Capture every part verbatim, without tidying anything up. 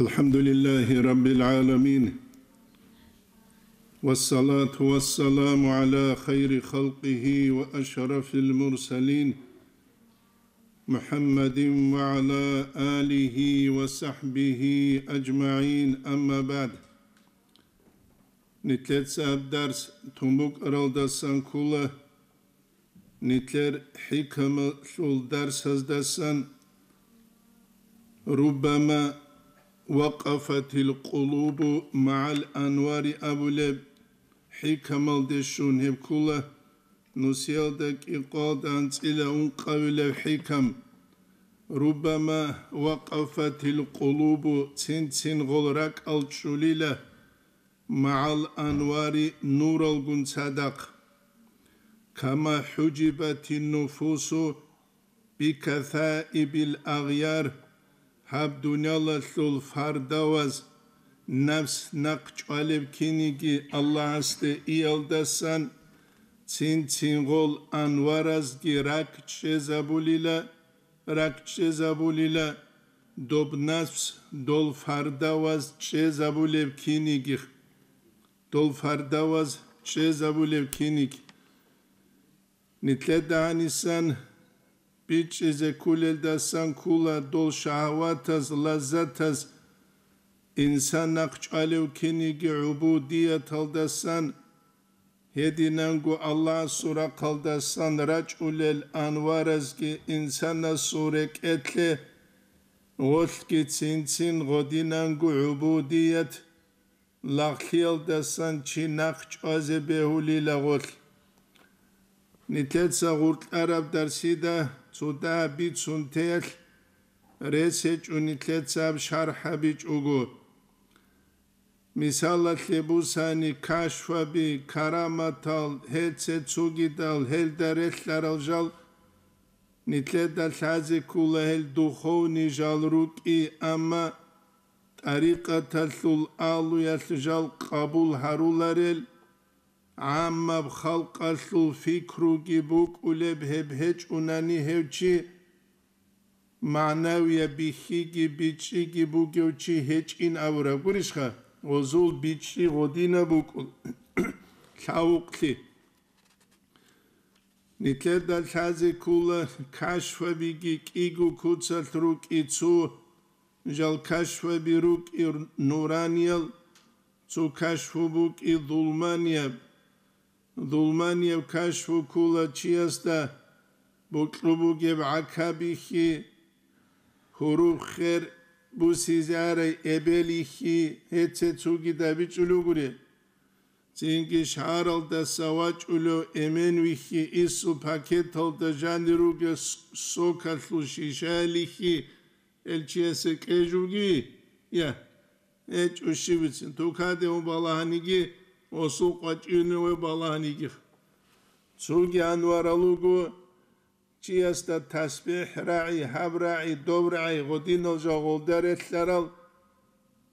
الحمد لله رب العالمين، والصلاة والسلام على خير خلقه وأشرف المرسلين، محمد وعلى آله وصحبه أجمعين، أما بعد. Нилъеца гьаб дарс тун букӀаралдасан ккола, нилъер хӀикамалъул дарсаздасан. «Руббама вакъафатил къулубу магӀал анвари» абулеб хӀикамалде щун гьеб ккола, нусиялда кӀикъоялда анцӀила ункъабилеб хӀикам. «Руббама вакъафатил къулубу», цин-цин гъол ракӀал чӀулила, «магӀал анвари», нуралгун цадахъ. «Кама хӀужибатин нуфусу бикасаибил агъяр», гьаб дуниялалъул фардаваз, напс нахъ чӀвалеб киниги Аллагьасде иялдасан, цин-цин гъол анваразги ракӀ чӀезабулила, ракӀ чӀезабулила, доб напс дол фардаваз чӀезабулеб киниги, дол фардаваз чӀезабулеб киниги. Нилъеда гьанисан бичӀчӀизе кколелдасан ккола дол шагьаватаз, лаззатаз инсан нахъ чӀвалев киниги гӀубудияталдасан, гьединанго Аллагьасул рахъалдасан рачӀулел анваразги инсанасул рекӀелъе гъолъги цин-цин гъодинанго гӀубудият, лагълъиялдасан чи нахъ чӀвазе бегьулила гъолъ. Нилъеца гъуркьараб дарсида цо дагьаб бицун теялъ рес гьечӀо, нилъеца гьаб шархӀ гьабичӀого. Мисалалъе бусани, кашфаби, караматал, гьел цецугидал, гьелда релълъарал жал, нилъеда лъазе ккола гьел духовный жал рукӀи, амма тӀарикъаталъул агьлуялъ жал къабул гьаруларел, гӀаммаб халкъалъул пикруги букӀулеб гьеб гьечӀунани гьев чи, магӀнавияб бихьиги бичӀчӀиги бугев чи гьечӀин абураб гурищха, гъозул бичӀчӀи гъодинаб букӀул лъавукълъи. Нилъеда лъазе ккола кашфабиги кӀиго куцалъ рукӀи цо, жал кашфаби рукӀи нураниял, цо кашфу букӀи зулманияб. Зулманияб кашфу ккола чиясда бокьу бугеб гӀака бихьи, гьуруб хер бусизарай эбел ихьи, гьеце цугида бичӀулугури. Цинги шагьаралдаса вачӀулев эмен вихьи, ису пакеталда жанир ругел с-, сокалъул шишаялихьи, гьел чиясе кьежуги, я, гьечӀо щибицин, тукаде ун балагьаниги, осул къвачӀине ве балагьаниги. Цуги анварал руго, чиясда тасбихӀ рагӀи, гьаб рагӀи, доб рагӀи, гъодинал жал гъолда релълъарал,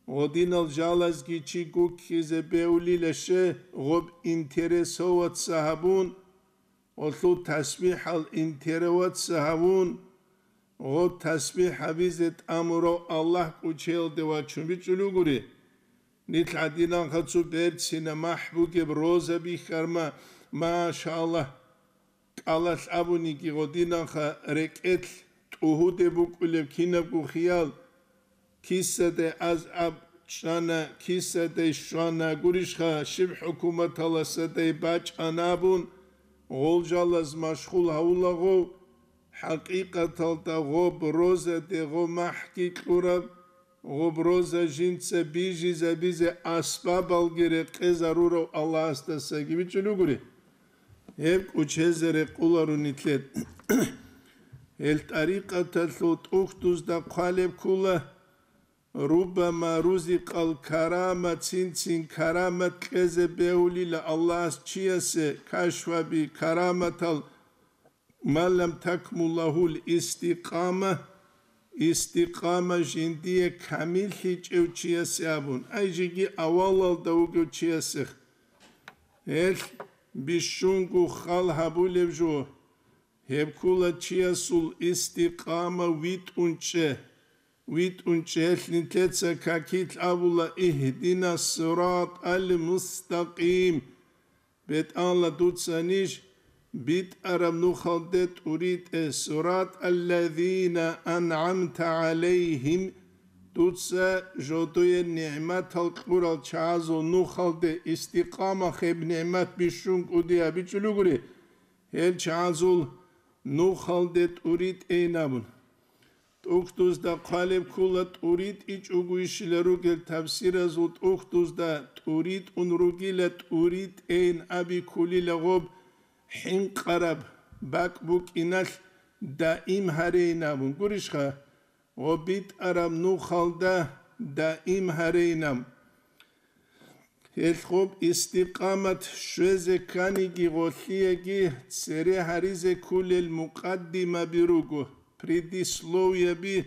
гъодинал жалазги чи гуккизе беулила ще, гъоб интересоваться гьабун, гъолъул тасбихӀал интероваться гьавун, гъо тасбихӀ гьабизе тӀамурав Аллагь кӀучеялде вачун бичӀчӀулугури. Нилъ гӀадинанха цо берцина махӀ бугеб роза бихьарма, машаллагь, кӀалалъ абуниги гъодинанха рекӀелъ тӀугьуде букӀулеб кинабго хиял, кисадай аз аб чӀана, кисадай щвана, гурищха, щиб хӀукуматаласадай бачӀана абун, гъол жалаз машгъул гьавулагъов, хӀакъикъаталда гъоб розаде гъо махӀги кьураб, гъоб роза жинца бижизабизе асбабалги рекъезарурав Аллагьасдасаги бичӀчӀулугури. Гьеб кӀучезе рекъулару нилъер. Гьел тӀарикъаталъул тӀухьдузда хъвалеб ккула, руббама рузикъал карама, цин-цин карамат кьезе бегьулила Аллагьас чиясе, кашфаби караматал, ма лам такмул лагьул истикъама, истикъама жиндие камиллъичӀев чиясе абун, ай жеги авалалда вугев чиясех. Гьелъ бищунго хал гьабулеб жо, гьеб ккула чиясул истикъама витӀун чӀе. витӀун чӀелъ нилъеца какилъ абула: «Игьдина сиратӀал мустакъим». БетӀалла, дуца ниж битӀараб нухалде тӀуритӀе, сиратӀаллазина ан'амта гӀалайгьим, дуца жодое нигӀматал кьурал чагӀазул нухалде, истикъама гьеб нигӀмат бищун кӀудияб бичӀчӀулугури, гьел чагӀазул нухалде тӀуритӀейин абун. ТӀухьдузда хъвалеб ккула тӀуритӀичӀого ишила ругел, тафсиразул тӀухьдузда тӀуритӀун ругила, тӀуритӀейин аби ккулила гъоб хӀинкъараб бакӀ букӀиналъ даим гьарейин абун. Гурищха, гъоб битӀараб нухалда даим гьарейин абун. Гьелъ гъоб истикъамат щвезе кканиги гъолъиеги цере гьаризе ккулел мукъаддимаби руго, предисловияби,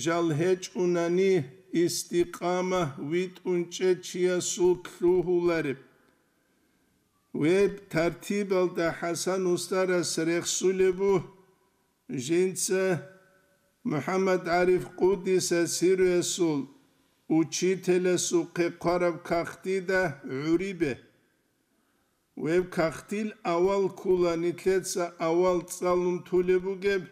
жал гьечӀунани истикъама витӀун чӀечиясул лъугьулареб. Гьеб тартибалда ХӀасан устарас рехсулеб буго, жинца МухӀаммад ГӀариф Къуддиса сирруясул учителясухъе хъвараб кагътида гӀурибе. Гьеб кагътил авал ккула нилъеца авал цӀалун тулеб бугеб: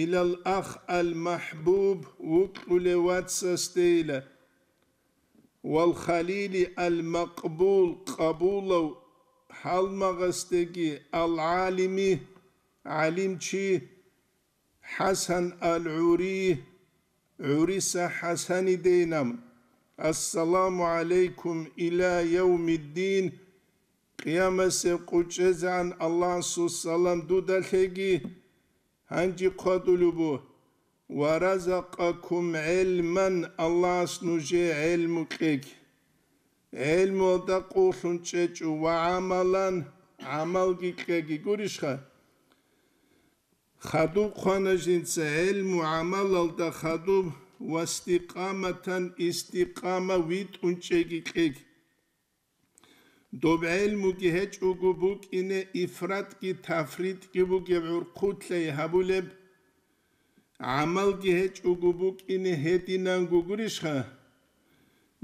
«Илал ах ал махӀбуб», вукьулев вацасдейила, «вал халили ал макъбул», къабулав гьалмагъасдеги, «ал гӀалими», гӀалимчи, «ХӀасан ал гӀури», гӀуриса ХӀасанидейин абун: «Ассаламу гӀалайкум иля явмиддин», Къиямасеб къо чӀезегӀан Аллагьасул салам дуда лъеги, гьанже хъвадулеб буго: «Ва разакъакум гӀилман», Аллагьас нужее гӀелму кьеги. ГӀелмуялда къуллъун чӀечӀо, «ва гӀамалан», гӀамалги кьеги. Гурищха? Хадуб хъвана жинца гӀелму гӀамалалда хадуб, «ва истикъаматан», истикъама витӀун чӀеги кьеги. Доб гӀелмуги гьечӀого букӀине ифратги тафритги бугеб гӀурхъулъай гьабулеб, гӀамалги гьечӀого букӀине гьединанго гурищха?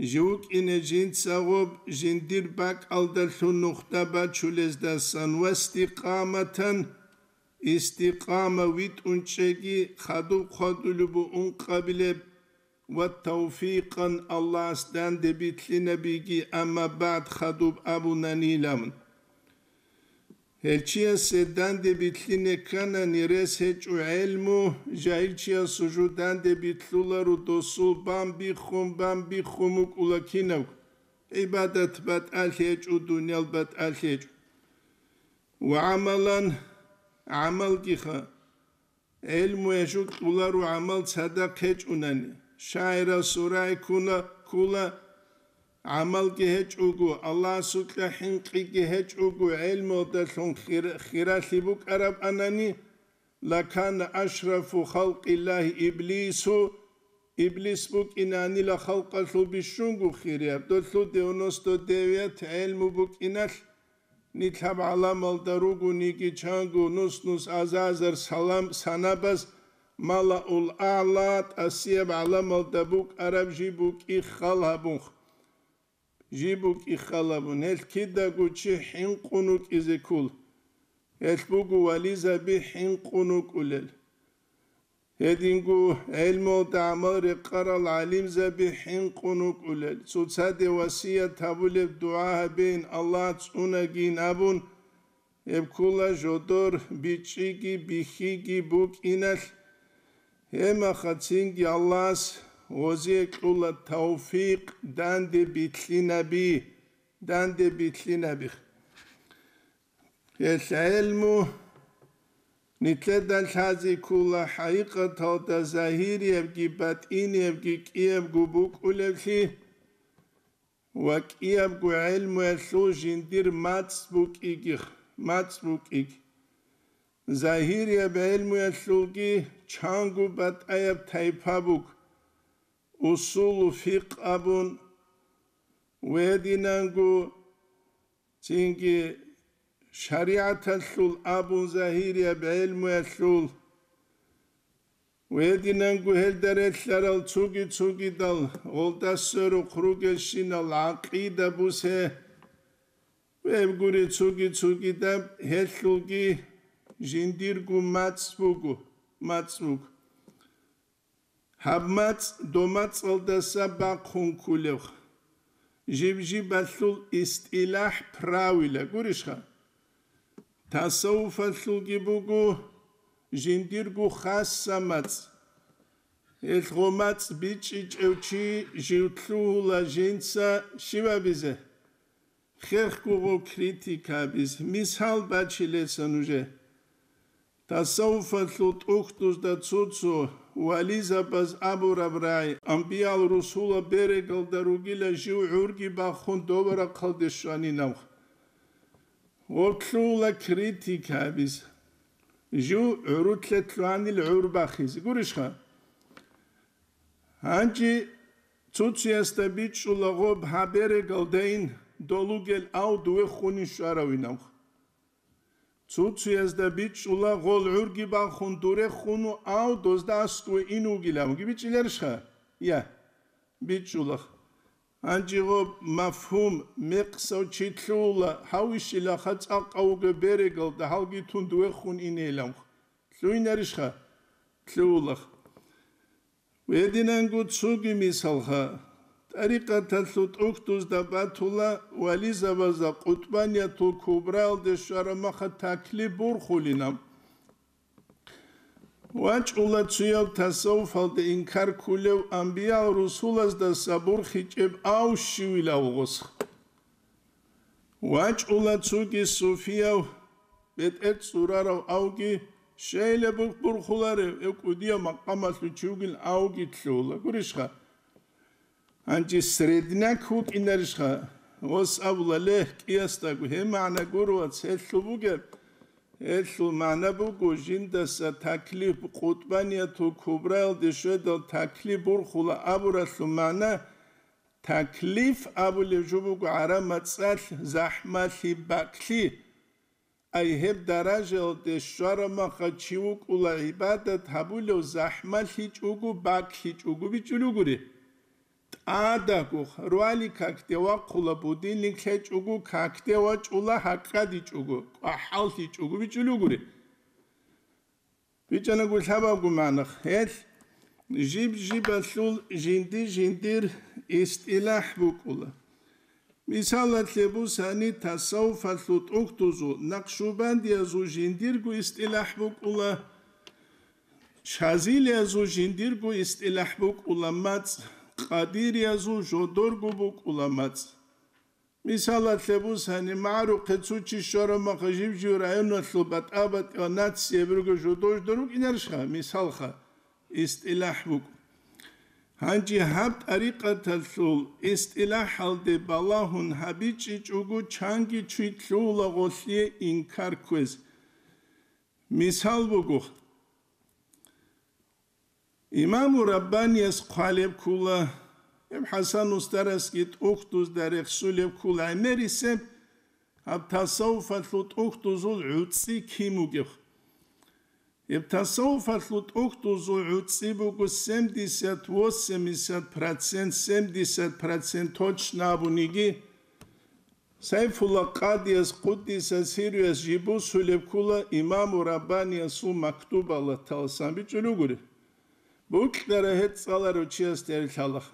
Жив вукӀине жинцагъоб жиндир бакӀалдалъун нухда бачулездасан ва истикъаматан, истикъама витӀун чӀеги хадуб хъвадулеб буго ункъабилеб, ва тавфикъан Аллагьас данде билълъинабиги, амма бад хадуб абунанилан. Гьелчиясе данде билълъине кканани рес гьечӀо гӀелму, жагьилчиясул жо данде билълъуларо, досул бан биххун, бан биххун букӀула кинабго, гӀибадат батӀалъи гьечӀо, дуниял батӀалъи гьечӀо. Ва гӀамалан, гӀамалгиха. ГӀелмуялъул кьоларо гӀамал цадахъ гьечӀунани, шагӀирасул рагӀи ккуна, ккола, гӀамалги гьечӀого, Аллагьасукьа хӀинкъиги гьечӀого, гӀелмуялдалъун хир-, хиралъи букӀарабани, лакана ашрафу халкъиллагьи иблису, иблис букӀинанила халкъалъул бищунго хирияб, долъул девяносто девять гӀелму букӀиналъ. Нилъ гьаб гӀаламалда ругониги чанго нус-нус азар-азар салам-, санабаз, малаул агӀла, тӀасияб гӀаламалда букӀараб жи букӀи хал гьабун, жи букӀи хал гьабун, гьелъ кидаго чи хӀинкъун вукӀизе ккол. Гьелъ буго вализаби хӀинкъун вукӀулел. Гьединго гӀелмуялда гӀамал рекъарал гӀалимзаби хӀинкъун вукӀулел, цоцаде васият гьабулеб дугӀа гьабейин, Аллагь цӀунагийин абун, гьеб ккола жодор бичӀчӀиги бихьиги букӀиналъ. Гьебмахацинги Аллагьас гъозие кьола тавфикъ данде билълъинаби, данде билълъинаби. Гьелъ гӀелму нилъеда лъазе ккола хӀакъикъаталда загьириябги батӀиниябги кӀиябго букӀулевлъи ва кӀиябго гӀелмуялъул жиндир мацӀ букӀигих-, мацӀ букӀиг. Загьирияб гӀелмуялъулги чанго батӀаяб тайпа буго, усулу фикъ абун, гьединанго цинги шаригӀаталъул абун загьирияб гӀелмуялъул, Гьединанго гьелда релълъарал цуги-цугидал гъолда сверухъ ругелщинал гӀакъида бусе, гьеб гури цуги-цугидаб гьелъулги жиндирго мацӀ буго, мацӀ буго. Гьаб мацӀ домацӀалдаса бахъун кколев. Жиб-жибалъул истилахӀ, правила гурищха? Тасаввуфалъулги буго жиндирго хасса мацӀ. Гьелъ гъо мацӀ бичӀчӀичӀев чи жив лъугьула жинца щиб абизе? Хехго гъо критика абизе. Мисал бачилеса нужее. Тасаввуфалъул тӀухьдузда цо-цо вализабаз абураб рагӀи, амбиял-русулал берегалда ругила жив гӀурги бахун дова рахъалде щванинавха. Гъорлъула критика абизе. Жив гӀурутлъе лъугьанил гӀур бахизе. Гурищха? Гьанже цо-цоясда бичӀчӀула гъоб гьаб берегалдайин долугел ав дуве хунин щваравинавха. Цо-цоязда бичӀчӀула гъол гӀурги бахун дуре хуну ав дозда аскӀове ин вугилавги бичӀчӀиларищха? Я, бичӀчӀулах. Гьанже гъоб мафгьум, мекъсав чи лъугьула, гьавищилаха цӀакъав вуго берегалда гьалги тун дуе хун инейилавха. Лъугьинарищха? Лъугьулах. Гьединанго цоги мисалха, тӀарикъаталъул тӀухьдузда батула вализабазда къутбаниятул кубраялде щвараб маха таклиф бурхулина. ВачӀула цояв тасаввуфалде инкар ккулев амбиял-русулаздаса бурхичӀеб ав щивилав гъос. ВачӀула цоги суфияв, бетӀер цӀурарав авги, щайила бурх-, бурхуларев, гьев кӀудияв макъамалъул чи вугин авги лъугьула. Гурищха? Гьанже средняк вукӀинарищха? Гъос абула, ле, кӀиясдаго, гьеб магӀна гуро, вац, гьелъул бугеб. Гьелъул магӀна буго, жиндаса таклиф къутбаниятул кубраялде щведал таклиф бурхула абуралъул магӀна, таклиф абулев жо буго гӀараб мацӀалъ захӀмалъи, бакӀлъи. Ай гьеб даражаялде щвараб маха чи вукӀула гӀибадат гьабулев захӀмалъичӀого, бакӀлъичӀого бичӀчӀулугури. ТӀадагу, руали какде вахъула, будильник лъечӀого, какде вачӀула, гьакъадичӀого, кӀвахӀаллъичӀого бичӀчӀулугури. БичӀанаго лъабабго магӀна, гьелъ жиб-жибалъул жинди-жиндир истилахӀ букӀула. Мисалалъе бусани, тасаввуфалъул тӀухьдузул, накъшубандиязул жиндирго истилахӀ букӀула, шазилиязул жиндирго истилахӀ букӀула мацӀ, къадириязул жодорго букӀула мацӀ. Мисалалъе бусани, магӀарухъе цо чи щвараб маха жив-жив районалъул батӀа-батӀиял нацияб ругел жодор-жодор рукӀинарищха? Мисалха, истилахӀ букӀ. Гьанже гьаб тӀарикъаталъул истилахӀалде балагьун гьабичӀичӀого чанги чи лъугьула гъолъие инкар кквез. Мисал буго, Имаму Раббанияс хъвалеб ккула, гьеб ХӀасан устарасги тӀухьдузда рехсулеб ккула гӀемерисеб, гьаб тасаввуфалъул тӀухьдузул гӀуцӀи кин бугеб. Гьеб тасаввуфалъул тӀухьдузул гӀуцӀи буго семьдесят, восемьдесят процент, семьдесят процент точно абуниги, Сайфулла Къадияс, къуддиса сирруяс, жиб бусулеб ккула Имаму Раббаниясул мактубалда талсан бичӀчӀулугури. Букьара гьеб цӀаларав чиясда гьеб лъалаха.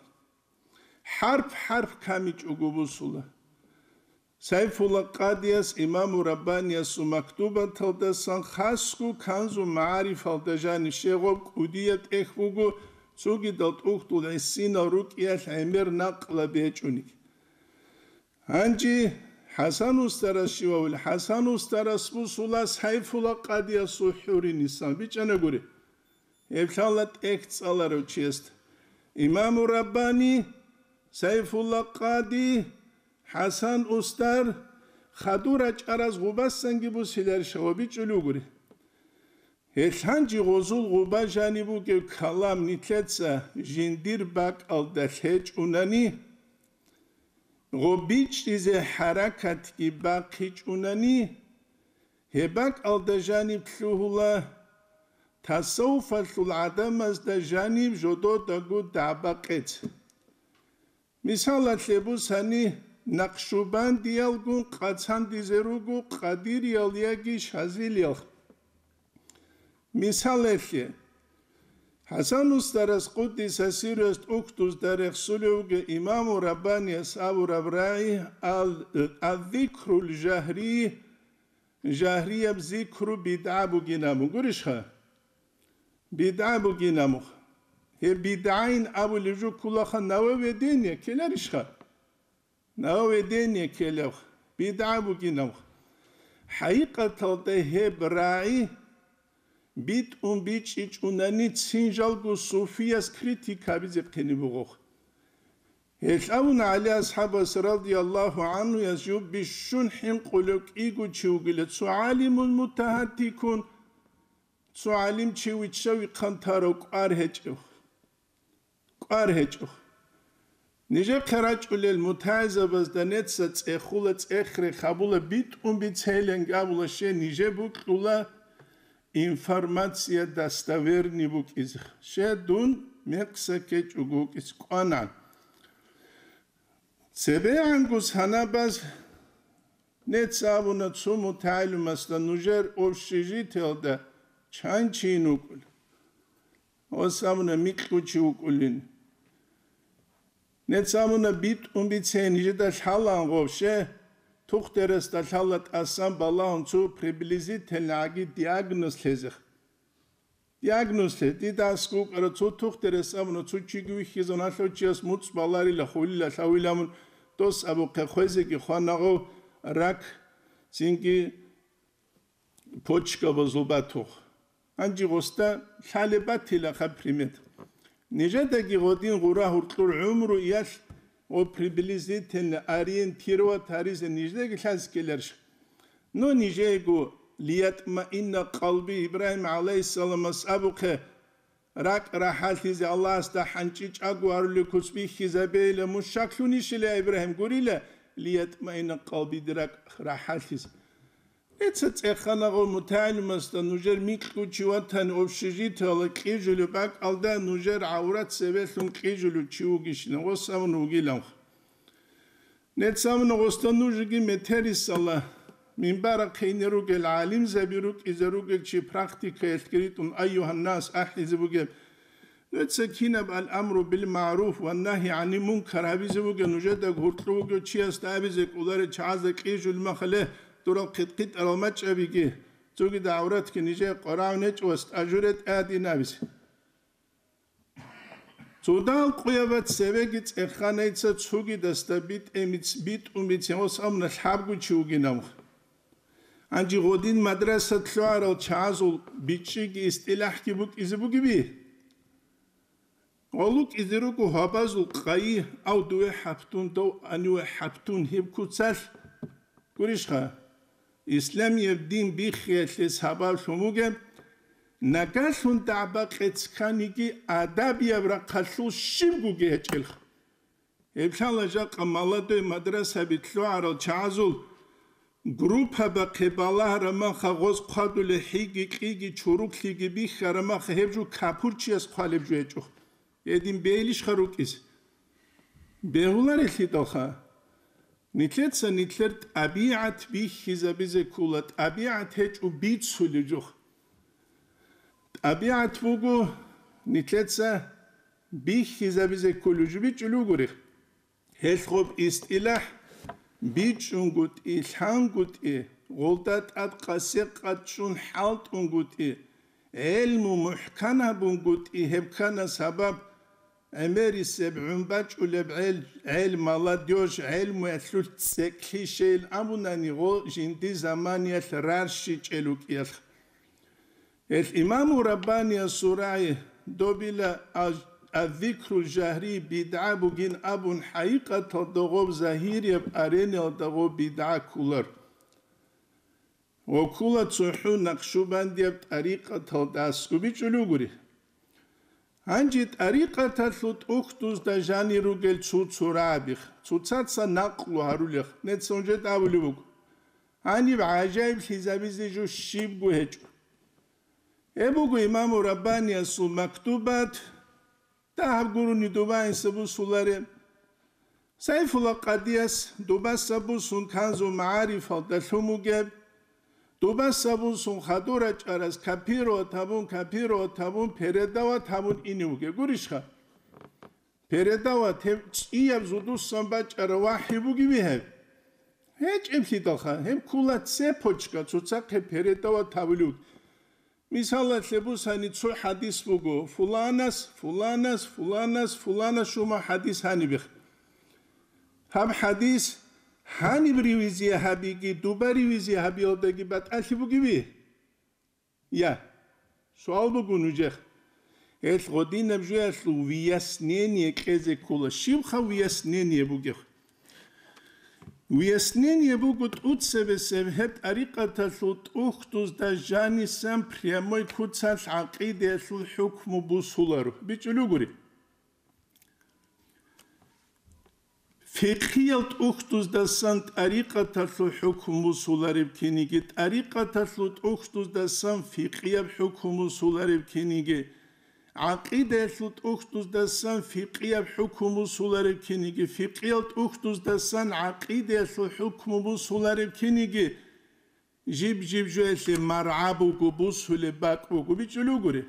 ХӀарп-хӀарп камичӀого бусула. Сайфулла Къадияс Имаму Раббаниясул мактубаталдасан хасго Канзу МагӀарифалда жаниб щегъоб кӀудияб тӀехь буго, цогидал тӀухьдул гӀисинал рукӀиялъ гӀемер накъла бечӀуниг. Гьанже ХӀасан устарас щивав? ХӀасан устарас бусула Сайфулла Къадиясул хӀуринисан, бичӀчӀана гури. Гьеб лъала тӀехь цӀаларав чиясда. Имаму Раббани, Сайфулла Къади, ХӀасан устар хадур рачӀараз гъубасанги бусиларищ ва бичӀчӀулугури. Гьелъ гьанже гъозул гъуба жаниб бугеб калам нилъеца жиндир бакӀалда лъечӀунани, гъо бичӀчӀизе хӀаракатги бахъичӀунани, гьеб бакӀалда жаниб лъугьула тасаввуфалъул гӀадамазда жаниб жододаго дагӀба-къец. Мисалалъе бусани, накъшубандиялгун къацандизе руго къадириял яги шазилиял. Мисалалъе, ХӀасан устарас къуддиса сирруяс тӀухьдузда рехсулев вугев имаму Раббанияс абураб рагӀи ал-, «Аззикрул жагьрий», жагьрияб зикру бидгӀа бугин абун. Гурищха? БидгӀа бугин абун. Гьеб бидгӀайин абулеб жо кколаха, нововведение ккеларищха? Нововведение ккелеб, бидгӀа бугинаб. ХӀакъикъаталда гьеб рагӀи битӀун бичӀчӀичӀунани цин жалго суфияс критика гьабизе хъене бугоха. Гьелъ абуна ГӀали асхӀабас радияллагьу гӀанхуяс жо бищун хӀинкъулев кӀиго чи вугила, цо гӀалимун мутагьаттикун, цо гӀалимчи вичча-вихъан тарав кӀвар гьечӀев. КӀвар гьечӀо. Нижехъе рачӀулел мутагӀилзабазда неца цӀехула, цӀех-рех гьабула, битӀун бицейилан абула, ще нижер букьула информация достоверный букӀизе. Ще дун мекъса ккечӀого вукӀизе кӀвана. ЦебегӀанго санабаз нецц абуна цо мутагӀилимасда, нужер общежитиялда чан чи вукӀулев? Гъос абуна, микьго чи вукӀулин. Нецц абуна, битӀун бицейин, нижеда лъалаан гъов, ще, тухтерасда лъала тӀасан балагьун цо приблизительно гӀаги диагноз лъезе. Диагноз лъе, дида аскӀов вукӀарав цо тухтерас абуна, цо чиги вихьизавун, гьалъав чияс муцӀ баларила, хулила, лъавила абун, дос абухъе хвезеги хвана гъов, рак, цинги почкабазул батух. Гьанже гъосда лъалеб батилаха примет. Нижедаги гъодин гъура гьуркьур гӀумру иялъ ва приблизительно ориентировать гьаризе нижедаги лъазе ккеларищ? Но нижего: «Лиятмаинна къалби», Ибрагьим гӀалайгьиссаламас абухъе, ракӀ рахӀалъизе Аллагьасда хӀанчӀичӀого гьарулел куц бихьизабейила, мун щаклъунищила, я Ибрагьим, гурила, «Лиятмаинна къалби», дир ракӀ рахӀалъизе. Нецца цӀехана гъов мутагӀилимасда, нужер микьго чи ватани общежитиялда кьижулеб бакӀалда нужер гӀаврат цебелъун кьижулев чи вугищина, гъос абун вугилан. Нецц абуна гъосда, нужеги метерисала, минбарахъе ине ругел, гӀалимзаби рукӀизе ругел чи практикаялъги ритӀун, «Айюгьаннас», ахӀизе бугеб, нуца кинаб ал-амру бил-магӀруф ва нагьи гӀанил-мункар гьабизе бугеб, нужеда гьуркьу вугев чиясда абизе кӀоларел чагӀазда кьижул махале, дурал хъитӀ-хъитӀарал мачӀабиги, цогидал гӀавратги нижее къварагӀун гьечӀо ва стажуре тӀадин абизе. Цо дагьал къуябац цевеги цӀеханайца цугидасда битӀе-, битӀун бицин гъос абуна лъабго чи вугинав. Гьанже гъодин мадраса лъугӀарал чагӀазул бичӀчӀиги истилахӀги букӀизе бугеби? Гъолукьизе руго гьабазул къайи, ав дуе хӀаптун, дов аниве хӀаптун гьеб куцалъ. Гурищха, исламияб дин биххиялъе сабаблъун бугеб, нагагьлъун дагӀба-къец кканиги адабияб рахъалъул щибгоги гьечӀелха. Гьеб лъала жакъа молодой мадрасаби лъугӀарал чагӀазул группабахъе балагьараб маха, гъоз хъвадулел хӀиги-кьиги чуруклъиги бихьараб маха, гьеб жо капурчияс хъвалеб жо гьечӀо. Гьедин бейилищха рукӀизе? Бегьуларелъидалха, нилъеца нилъер тӀабигӀат бихьизабизе ккола, тӀабигӀат гьечӀо бицулеб жо. ТӀабигӀат буго нилъеца бихьизабизе кколеб жо, бичӀчӀулеб бугоре. Гьелъ гъоб истилахӀ бичӀчӀунгутӀи, лъангутӀи, гъолда тӀад къасе-къад чӀун хӀалтӀунгутӀи, гӀелму мухӀкан гьабунгутӀи, гьеб ккана сабаб гӀемерисеб, гӀумбачӀулеб гӀел, гӀел, молодёжь, гӀелмуялъулъ цӀекӀлъи щейин абунани, гъо жинди заманиялъ рарщичӀел рукӀиялъ. Гьелъ Имаму Раббаниясул рагӀи добила, аз-, аззикру жагьри бидгӀа бугин абун, хӀакъикъаталда гъоб загьирияб арениялда гъоб бидгӀа кколар. Ва ккола цохӀо накъшубандияб тӀарикъаталда аскӀоб бичӀчӀулеб бугоре. Гьанже тӀарикъаталъул тӀухьдузда жанир ругел цо-цо рагӀабих, цоцаца накълу гьарулех, нецун жед абулеб буго. Гьаниб гӀажаиблъизабизе жо щибго гьечӀо. Гьеб буго имаму Раббаниясул мактубат, дагьаб гурони дуба инса бусулареб. Сайфула къадияс дубаса бусун Канзу магӀарифалда лъун бугеб, дубаса бусун хадур рачӀарас копировать гьабун, копировать гьабун, передавать гьабун ине вугеб. Гурищха? Передавать гьеб чӀияб зудусан бачӀараб вахӀи бугеби гьеб? ГьечӀеблъидалха, гьеб ккола цепочка, цоцахъе передавать гьабулев. Мисалалъе бусани, цо хӀадис буго, фуланас, фуланас, фуланас, фуланас жума хӀадис гьанибех. Гьаб хӀадис гьаниб ревизия гьабиги, дуба ревизия гьабиялдаги батӀалъи бугеби? Я. Суал буго нужех. Гьелъ гъодинаб жуялъул выяснение кьезе ккола. Щибха выяснение бугеб? Выяснение буго тӀуцебесеб гьеб тӀарикъаталъул тӀухьдузда жанисан прямой куцалъ гӀакъидаялъул хӀукму бусуларо. БичӀчӀулев гури. Фикъиял тӀухьдуздасан тӀарикъаталъул хӀукму бусулареб киниги, тӀарикъаталъул тӀухьдуздасан фикъияб хӀукму бусулареб киниги, гӀакъидаялъул тӀухьдуздасан фикъияб хӀукму бусулареб киниги, фикъиял тӀухьдуздасан гӀакъидаялъул хӀукму бусулареб киниги, жиб-жиб жуялъе маргӀа буго, бусулеб бакӀ буго, бичӀчӀулев гури.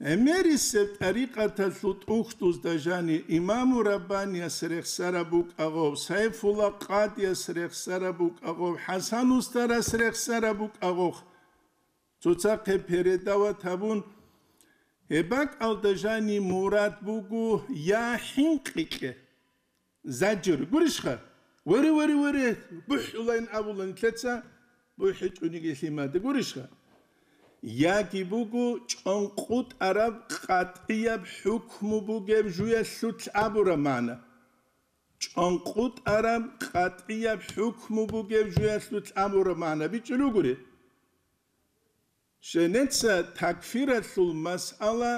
ГӀемерисеб тӀарикъаталъул тӀухьдузда жани имаму Раббанияс рехсараб букӀагъов, Сайфула къадияс рехсараб букӀагъов, ХӀасан устарас рехсараб букӀагъов, цоцахъе передавать гьабун, гьеб бакӀалда жани мурад буго я хӀинкъи кье. Заджир, гурищха? Вере, вере, вере, бухӀулайин абула нилъеца, бухӀичӀониги лъимада, гурищха? Яги буго чӀанкъутӀараб къатӀияб хӀукму бугеб жуялъулъ абураб магӀна. ЧӀанкъутӀараб къатӀияб хӀукму бугеб жуялъулъ абураб магӀна, бичӀчӀулев гури. Щенеца такфиралъул масъала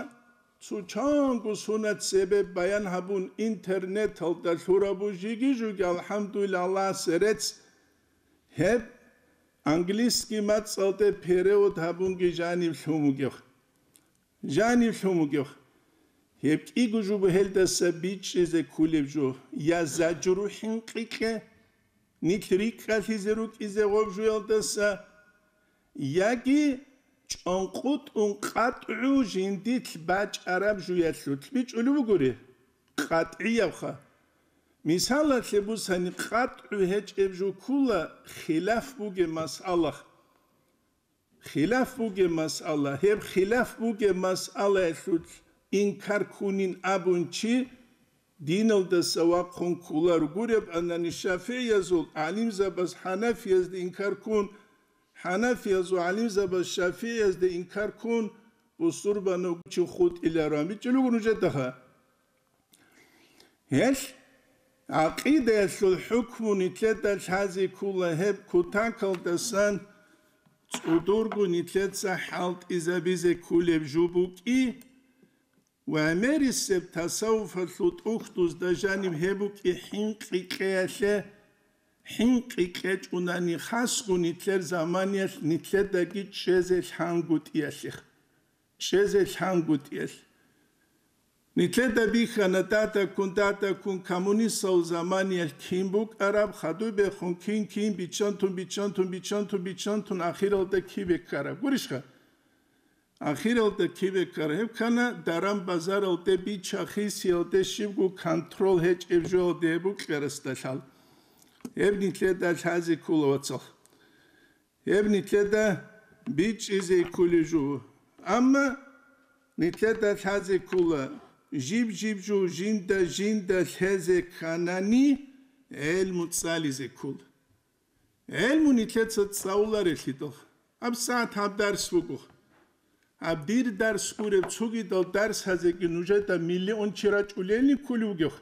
цо чанго сунат цебе баян гьабун интернеталда лъурабу жиги-жуги, алхӀамдулиллагь, Аллагьасе рецц, гьеб английский мацӀалде перевод гьабунги жанив лъун вугев. Жанив лъун вугев. Гьеб кӀиго жо буго гьелдаса бичӀчӀизе кколеб жо, я заджру хӀинкъи кье, нилъ рикӀкӀалъизе рукӀизе гъоб жуялдаса, яги чӀанкъутӀун къатӀгӀу жиндилъ бачӀараб жуялъулъ, бичӀчӀулев вугури, къатӀгӀиябха. Мисалалъе бусани, къатӀгӀу гьечӀеб жо ккола хилаф бугеб масъала. Хилаф бугеб масъала. Гьеб хилаф бугеб масъалаялъулъ инкар ккунин абун чи диналдаса вахъун кколаро. Гуреб анани, шафигӀиязул гӀалимзабаз хӀанафиязда инкар ккун, хӀанафиязул гӀалимзабаз шафигӀиязда инкар ккун, бусурбанав чи хутӀиларо. АмичӀел руго нужедаха. Гьелъ гӀакъидаялъул хӀукму нилъеда лъазе ккола гьеб кутакалдасан цӀудурго нилъеца хӀалтӀизабизе кколеб жо букӀи ва гӀемерисеб тасаввуфалъул тӀухьдузда жаниб гьеб букӀи хӀинкъи кьеялъе, хӀинкъи кьечӀунани хасго нилъер заманиялъ нилъедаги чӀезе лъангутӀиялъе. ЧӀезе лъангутӀиялъ. Нилъеда бихьана датаккун, датаккун коммунистал заманиялъ кин букӀараб, хадубехун кин, кин, биччантун, биччантун, биччантун, биччантун, ахиралда кибе ккараб. Гурищха? Ахиралда кибе ккараб. Гьеб ккана даран-базаралде, бича-хисиялде, щибго контрол гьечӀеб жоялде гьеб букӀарасдалъал. Гьеб нилъеда лъазе ккола, вацал. Гьеб нилъеда бичӀчӀизе кколеб жо. Амма нилъеда лъазе ккола, жиб-жиб жо жинда-жинда лъезе кканани, гӀелму цӀализе ккола. ГӀелму нилъеца цӀалуларелъидал, гьаб сагӀат гьаб дарс буго. Гьаб дир дарс гуреб цогидал дарсазеги нужеда миллион чи рачӀулелни кколев вугев?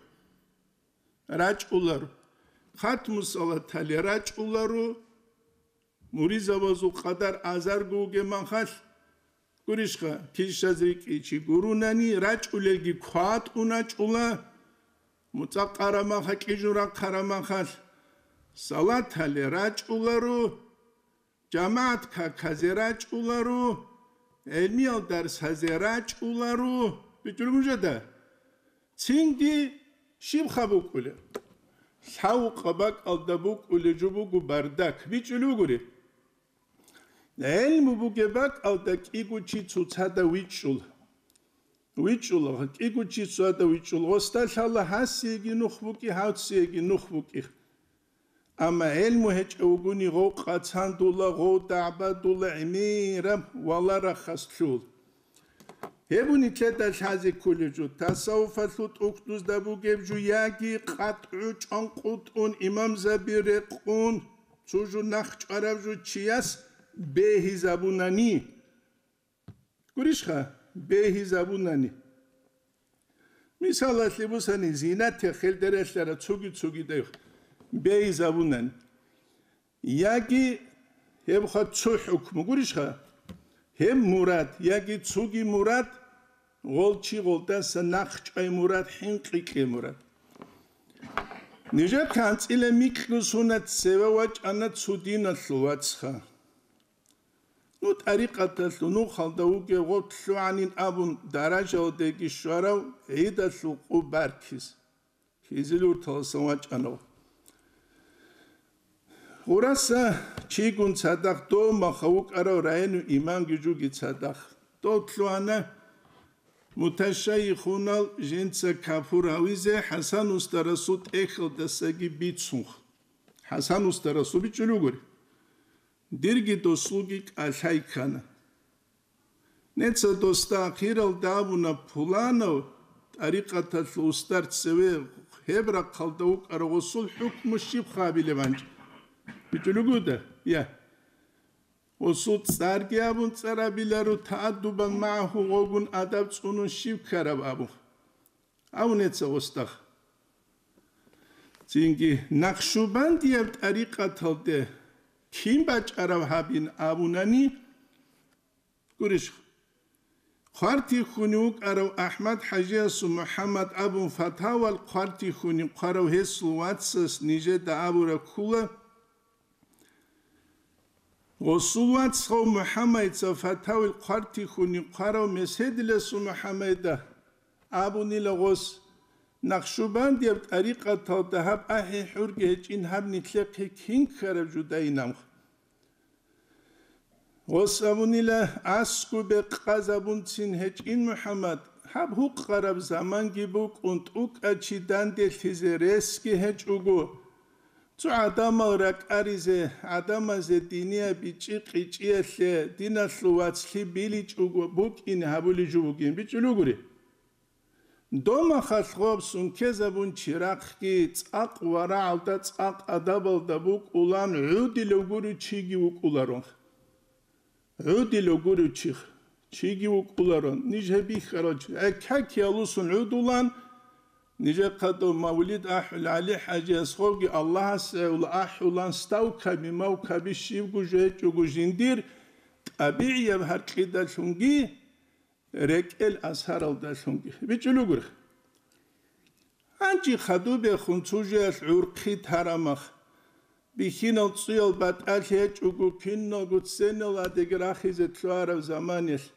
РачӀуларо. Хатму салатали рачӀуларо. Муризабазул къадар азарго вугеб махалъ, гурищха, килщаз рикӀкӀичи гурунани, рачӀулелги кватӀун рачӀула, муцӀа къарамаха кӀижун рахъарамахалъ, салатали рачӀуларо, жамагӀат каказе рачӀуларо, гӀелмиял дарсазе рачӀуларо, бичӀчӀулеб жада. Цинги щибха букӀулеб? Лъавукъа бакӀалда букӀулеб жо буго бардак, бичӀчӀулеб бугури. ГӀелму бугеб бакӀалда кӀиго чи цоцазда вичӀчӀула. ВичӀчӀула, кӀиго чи цоцазда вичӀчӀула. Гъосда лъала гьасиеги нух букӀи, гьавцӀиеги нух букӀи. Амма гӀелму гьечӀев вугони, гъов къацандула, гъов дагӀбадула, гӀемераб валарахъас лъул. Гьеб нилъеда лъазе кколеб жо, тасаввуфалъул тӀухьдузда бугеб жо, яги къатӀу чӀванкъутӀун, имамзаби рекъун, цо жо нахъчӀвараб жо чияс бегьизабунани. Гурищха? Бегьизабунани. Мисалалъе бусани, зинате хелдерелъара цоги-цогидайх бегьизабунани. Яги гьебха цо хӀукму гурищха? Гьеб мурад, яги цоги мурад, гъол чи гъолдаса нахъчӀвай мурад, хӀинкъи кье мурад. Нижехъе анцӀила микьго сунат цеве вачӀана цо диналъул вацха. Ну, тӀарикъаталъул нухалда вугев гъоб лъугӀанин абун даражалдеги щварав гӀидалъул къо баркиз, Хизилурталасан вачӀанав. Гъураса чигун цадахъ, дов маха вукӀарав району имамги жуги цадахъ. Дов лъугьана муташайихунал жинца капур гьавизе ХӀасан устарасул тӀехьалдасаги бицунх. ХӀасан устарасул бичӀчӀулугури. Дирги досулги кӀалъай ккана. Неца досда ахиралда абуна: «Пуланав тӀарикъаталъул устар цеве гьеб рахъалда вукӀарав гъосул хӀукму щиб хабилеб гьанчӀ?» БичӀчӀулугуда? Я. Гъосул цӀарги абун цӀарабиларо, тааддубан магӀаху гъогун адаб цӀунун щиб ккараб абун. Абу неца гъосда. Цинги Накъшубандияб тӀарикъаталде кин бачӀарав гьабин абунани, гурищ, хъвартихьуни вукӀарав АхӀмад-хӀажиясул МухӀаммад абун фатавал хъвартихьуни хъварав гьесул вацас нижеда абураб ккула, гъосул вацгъав МухӀаммадица фатавил хъвартихьуни хъварав Меседиласул МухӀаммадида абунила гъос: «Накъшубандияб тӀарикъаталда гьаб ахӀи-хӀурги гьечӀин, гьаб нилъехъе кин ккараб жо дайинаб?» Гъос абунила: «АскӀубе къазабунцин гьечӀин, МухӀаммад, гьаб гьукъараб заманги букӀун, тӀукӀа чи данделъизе ресги гьечӀого. Цо гӀадамал ракӀаризе, гӀадамазе динияб бичӀчӀи-къичӀиялъе диналъул вацлъи биличӀого букӀине гьабулеб жо бугин», бичӀчӀулугури. Домахалъ гъоб сункезабун чирахъги цӀакъ варагӀалда, цӀакъ адабалда букӀулан гӀудилев гурев чиги вукӀуларо. ГӀудилев гурев чи, чиги вукӀуларо, ниж гьеб бихьарал чи. ГӀеккакиялусун гӀудулан, нижехъа дов мавлид ахӀул ГӀали-хӀажиясгъовги Аллагьасе гӀевла ахӀулан, ставкаби-мавкаби щибго жо гьечӀого жиндир, тӀабигӀияб гьаркьидалъунги, рекӀел асаралдалъунги. БичӀчӀулугури. Гьанже хадубехун цо жоялъ гӀурхъи тарамах, бихьинал цӀуял батӀалъи гьечӀого, киналго цценал адеги рахизе лъугьараб заманиялъ,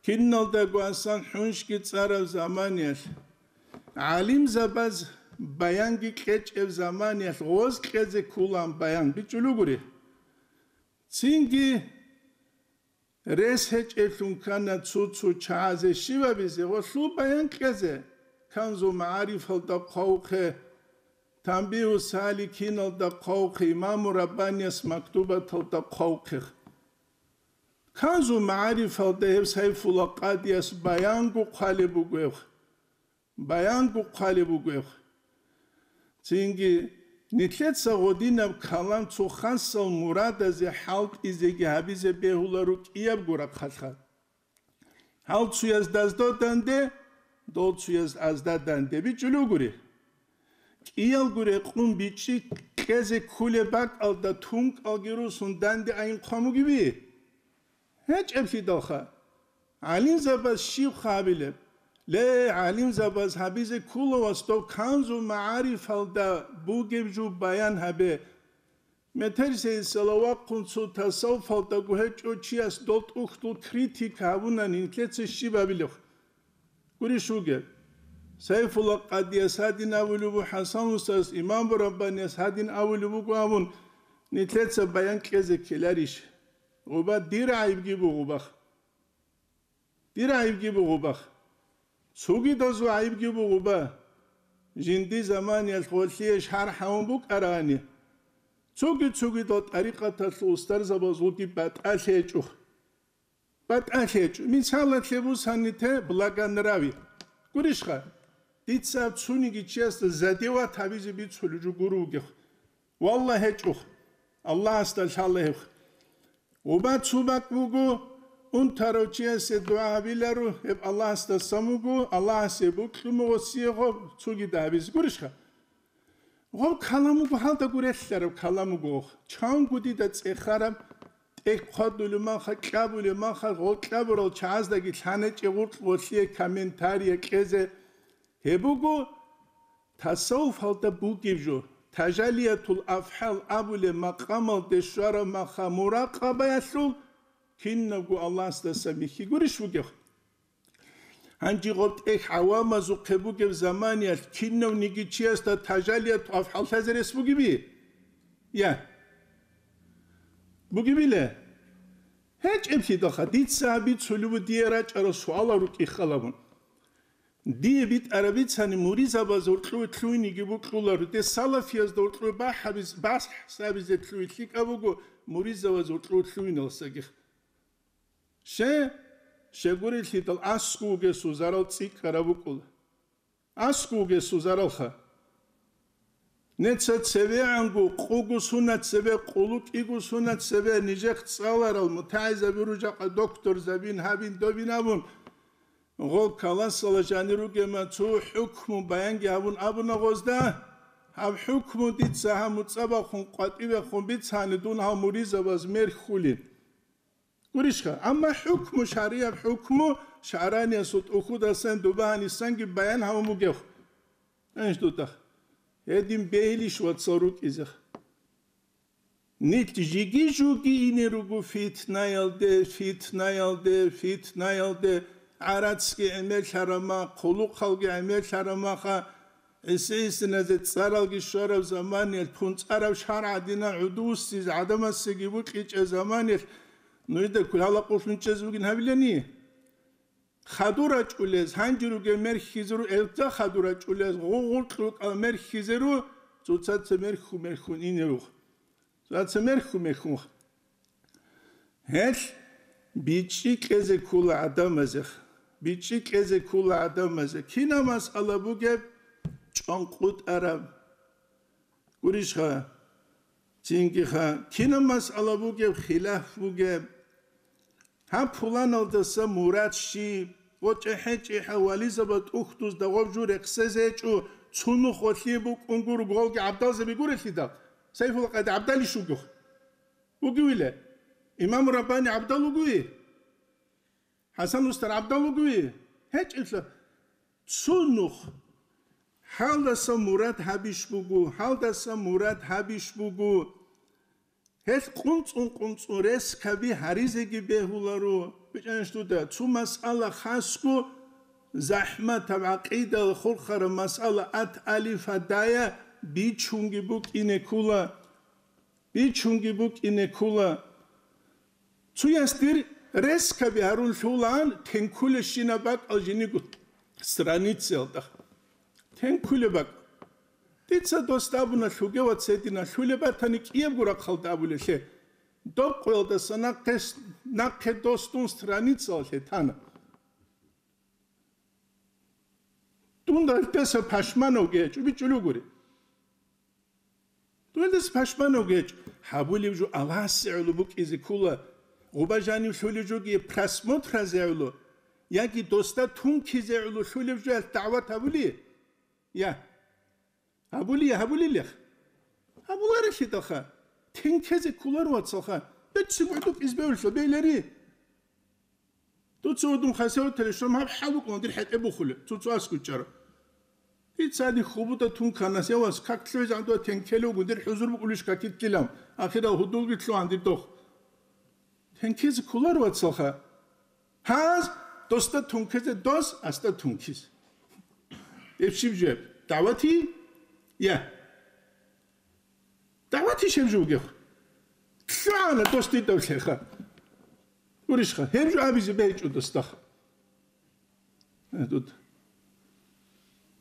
киналдаго асан хӀуншги цӀараб заманиялъ, гӀалимзабаз баянги кьечӀеб заманиялъ гъоз кьезе ккулаан баян, бичӀчӀулугури. Цинги рес гьечӀеблъун ккана цо-цо чагӀазе щибабизе ва лъул баян кьезе, Канзу магӀарифалда хъвавухъе, Танбигьу саликиналда хъвавухъе, Имаму Раббанияс мактубаталда хъвавухъе. Канзу магӀарифалда гьев Сайфулла къадияс баянго хъвалеб бугеб. Баянго хъвалеб бугеб. Цинги нилъеца гъодинаб калам цо хасал мурадазе хӀалтӀизеги гьабизе бегьуларо кӀиябго рахъалъа. Гьал цуяз дазда данде, дол цуяз азда данде, бичӀчӀулугури. КӀиялго рекъун бичӀчӀи кьезе кколеб бакӀалда тункӀалги русун данде айин хъван бугеби? ГьечӀеблъидалха. ГӀалимзабаз щиб хабилеб? Ле, гӀалимзабаз гьабизе ккола, вастав, Канзу магӀарифалда бугеб жо баян гьабе. Метерсейисала вахъун цо тасаввуфалдаго гьечӀо чияс дол тӀухьдул критика гьабунани нилъеца щиб абилеб? Гурищ вугеб? Сайфулла къадияс гьадин абулеб буго, ХӀасан устаз, имам Раббанияс гьадин абулеб буго абун, нилъеца баян кьезе ккеларищ? Гъуба дир гӀайибги бугъубах. Дир гӀайибги бугъубах. Цогидазул гӀайибги бугъуба. Жинди заманиялъ гъолъие шархӀ гьавун букӀарани, цоги-цогидал тӀарикъаталъул устарзабазулги батӀалъи гьечӀо. БатӀалъи гьечӀо. Мисалалъе бусани те благонравие. Гурищха? Дица цониги чиясда задевать гьабизе бицулеб жо гуро вугев. Валлагь, гьечӀо. Аллагьасда лъала гьеб. Гъуба цо бакӀ буго, унтарав чиясе дугӀа гьабиларо, гьеб Аллагьасдасан вуго, Аллагьасе бокьун буго гъосие гъоб, цогида гьабизе. Гурищха? Гъоб калам буго, гьалда гурелъараб калам буго. Чанго дида цӀехараб, тӀехь хъвадулеб маха, кьабулеб маха, гъол кьабурал чагӀаздаги лъанечӀеб гъуркь гъолъие комментария кьезе. Гьеб буго тасаввуфалда бугеб жо, тажалиятул афгӀал абулеб макъамалде щвараб маха муракъабаялъул кинабго Аллагьасдаса михьи гурищ вугев? Гьанже гъоб тӀехь гӀавамазухъе бугеб заманиялъ кинавниги чиясда тажалиятул афгӀал лъазе рес бугеби? Я. Бугебила? ГьечӀеблъидалха, дица гьабицулеб буго дие рачӀарал суалал рукӀин хал гьабун. Дие битӀараб бицани муридзабаз гьоркьове лъугьиниги бокьуларо, те салафиязда гьоркьове бахӀ гьабиз-, бахӀс гьабизе лъугьи лъикӀаб буго муридзабаз гьоркьове лъугьиналсаги. Ще, щегурелъидал аскӀов вугесул зарал цӀикӀкӀараб букӀула. АскӀов вугесул заралха. Неца цевегӀанго къуго сунат цебе, къулу кӀиго сунат цебе нижехъ цӀаларал мутагӀилзаби ружахъа докторзабин гьабин добин абун, гъол каласала жанир ругема цо хӀукму баянги гьабун абуна гъозда, гьаб хӀукму дица гьаб муцӀабахъун къватӀибехун бицани дун гьав муризабаз мерхьулин. Гурищха, амма хӀукму, шаригӀаб хӀукму шагӀраниясул тӀухьудасан дуба гьанисанги баян гьавун бугев. Гьанж дутӀа. Гьедин бегьилищ вацал рукӀизех. Нилъ жиги-жуги ине руго фитнаялде, фитнаялде, фитнаялде, гӀарацги гӀемерлъарама, хъулухъалги гӀемерлъарамаха, гӀиси-гӀисиназе цӀаралги щвараб заманиялъ, пунцӀараб шаргӀ гӀадинал гӀудуссиз гӀадамасеги букьичӀеб заманиялъ, нужда кколъ гьала къулъун чӀезе бугин гьабилани? Хадур рачӀулез, гьанже ругел мерхьизеру, элца хадур рачӀулез, гъугъуркьукъал мерхьизеру, цоцаца мерхьу-мерхьун инерух. Цоцаца мерхьу-мерхьун. Гьелъ бичӀчӀи кьезе ккола гӀадамазе, бичӀчӀи кьезе ккола гӀадамазе. Кинаб масъала бугеб, чӀванкъутӀараб. Гурищха, цингиха, кинаб масъала бугеб, хилаф бугеб. Гьаб пуланалдаса мурад щиб, ва чӀехӀе-чӀехӀе вализаба тӀухьдузда гъоб жо рехсезе гьечӀо, цунухъ гъолъие букӀун гуро гъолги гӀабдалзаби гурелъидал, Сайфулла къади гӀабдалищ вугев? Вугевила? Имам Раббани гӀабдал вугеве? ХӀасан устар гӀабдал вугеве? ГьечӀелъа цо нух. Гьалдаса мурад гьабищ буго, гьалдаса мурад гьабищ буго. Гьелъ къунцӀун-къунцӀун рес каби гьаризеги бегьуларо. БичӀанищ дуда, цо масъала хасго, захӀматаб гӀакъидала хурхараб масъала ат алифа дая бичунги букӀине ккула. Бичунги букӀине ккула. Цояс дир рескаби гьарун лъулаан тенкулещина бакӀал жиниго страницаялда. Тенкулеб бакӀ. Дица дос абуна лъугевац гьедина, лъулеб батани кӀиябго рахъалда абулелъе. Доб къоялдаса нахъе, нахъе дос дун страницаялъе тана. Дунда гьелдаса пашманавги гьечӀо, бичӀчӀулев гури. Дунялдаса пашманавги гьечӀо. Гьабулев жо Аллагьасе гӀоло букӀизе ккула, гъуба жанив лъулев жоги просмотразе гӀоло, яги досда тункизе гӀоло лъулев жо гьелъ дагӀват гьабули? Я. Гьабули, гьабулилех. Гьабуларелъидалха. Тенкезе кколаро, вацалха. БеццигӀ гӀодоб избевлъа бейлари. Дуца гьудун хасаваталищ, гьаб хӀалукъун дир хӀетӀе бухулеб, цо-цо аскӀучӀаро. Дица гьадин хъубуда тунканас, я вас, как лъугӀизе гӀадуа тенкелев гудер хӀузур букӀулищ какитлъилан, ахирал гьудулги лъугӀан дир дох. Тенкизе кколар, вацалха. Гьаз досда тункизе, дос асда тункиз. Эб щиб жеб? ДагӀвати? Я. ДагӀвати щеб жо бугеб? ЛъугӀана дос дидав лъеха. Гурищха, гьеб жо абизе бегьичӀо досдахъ. Э, тут.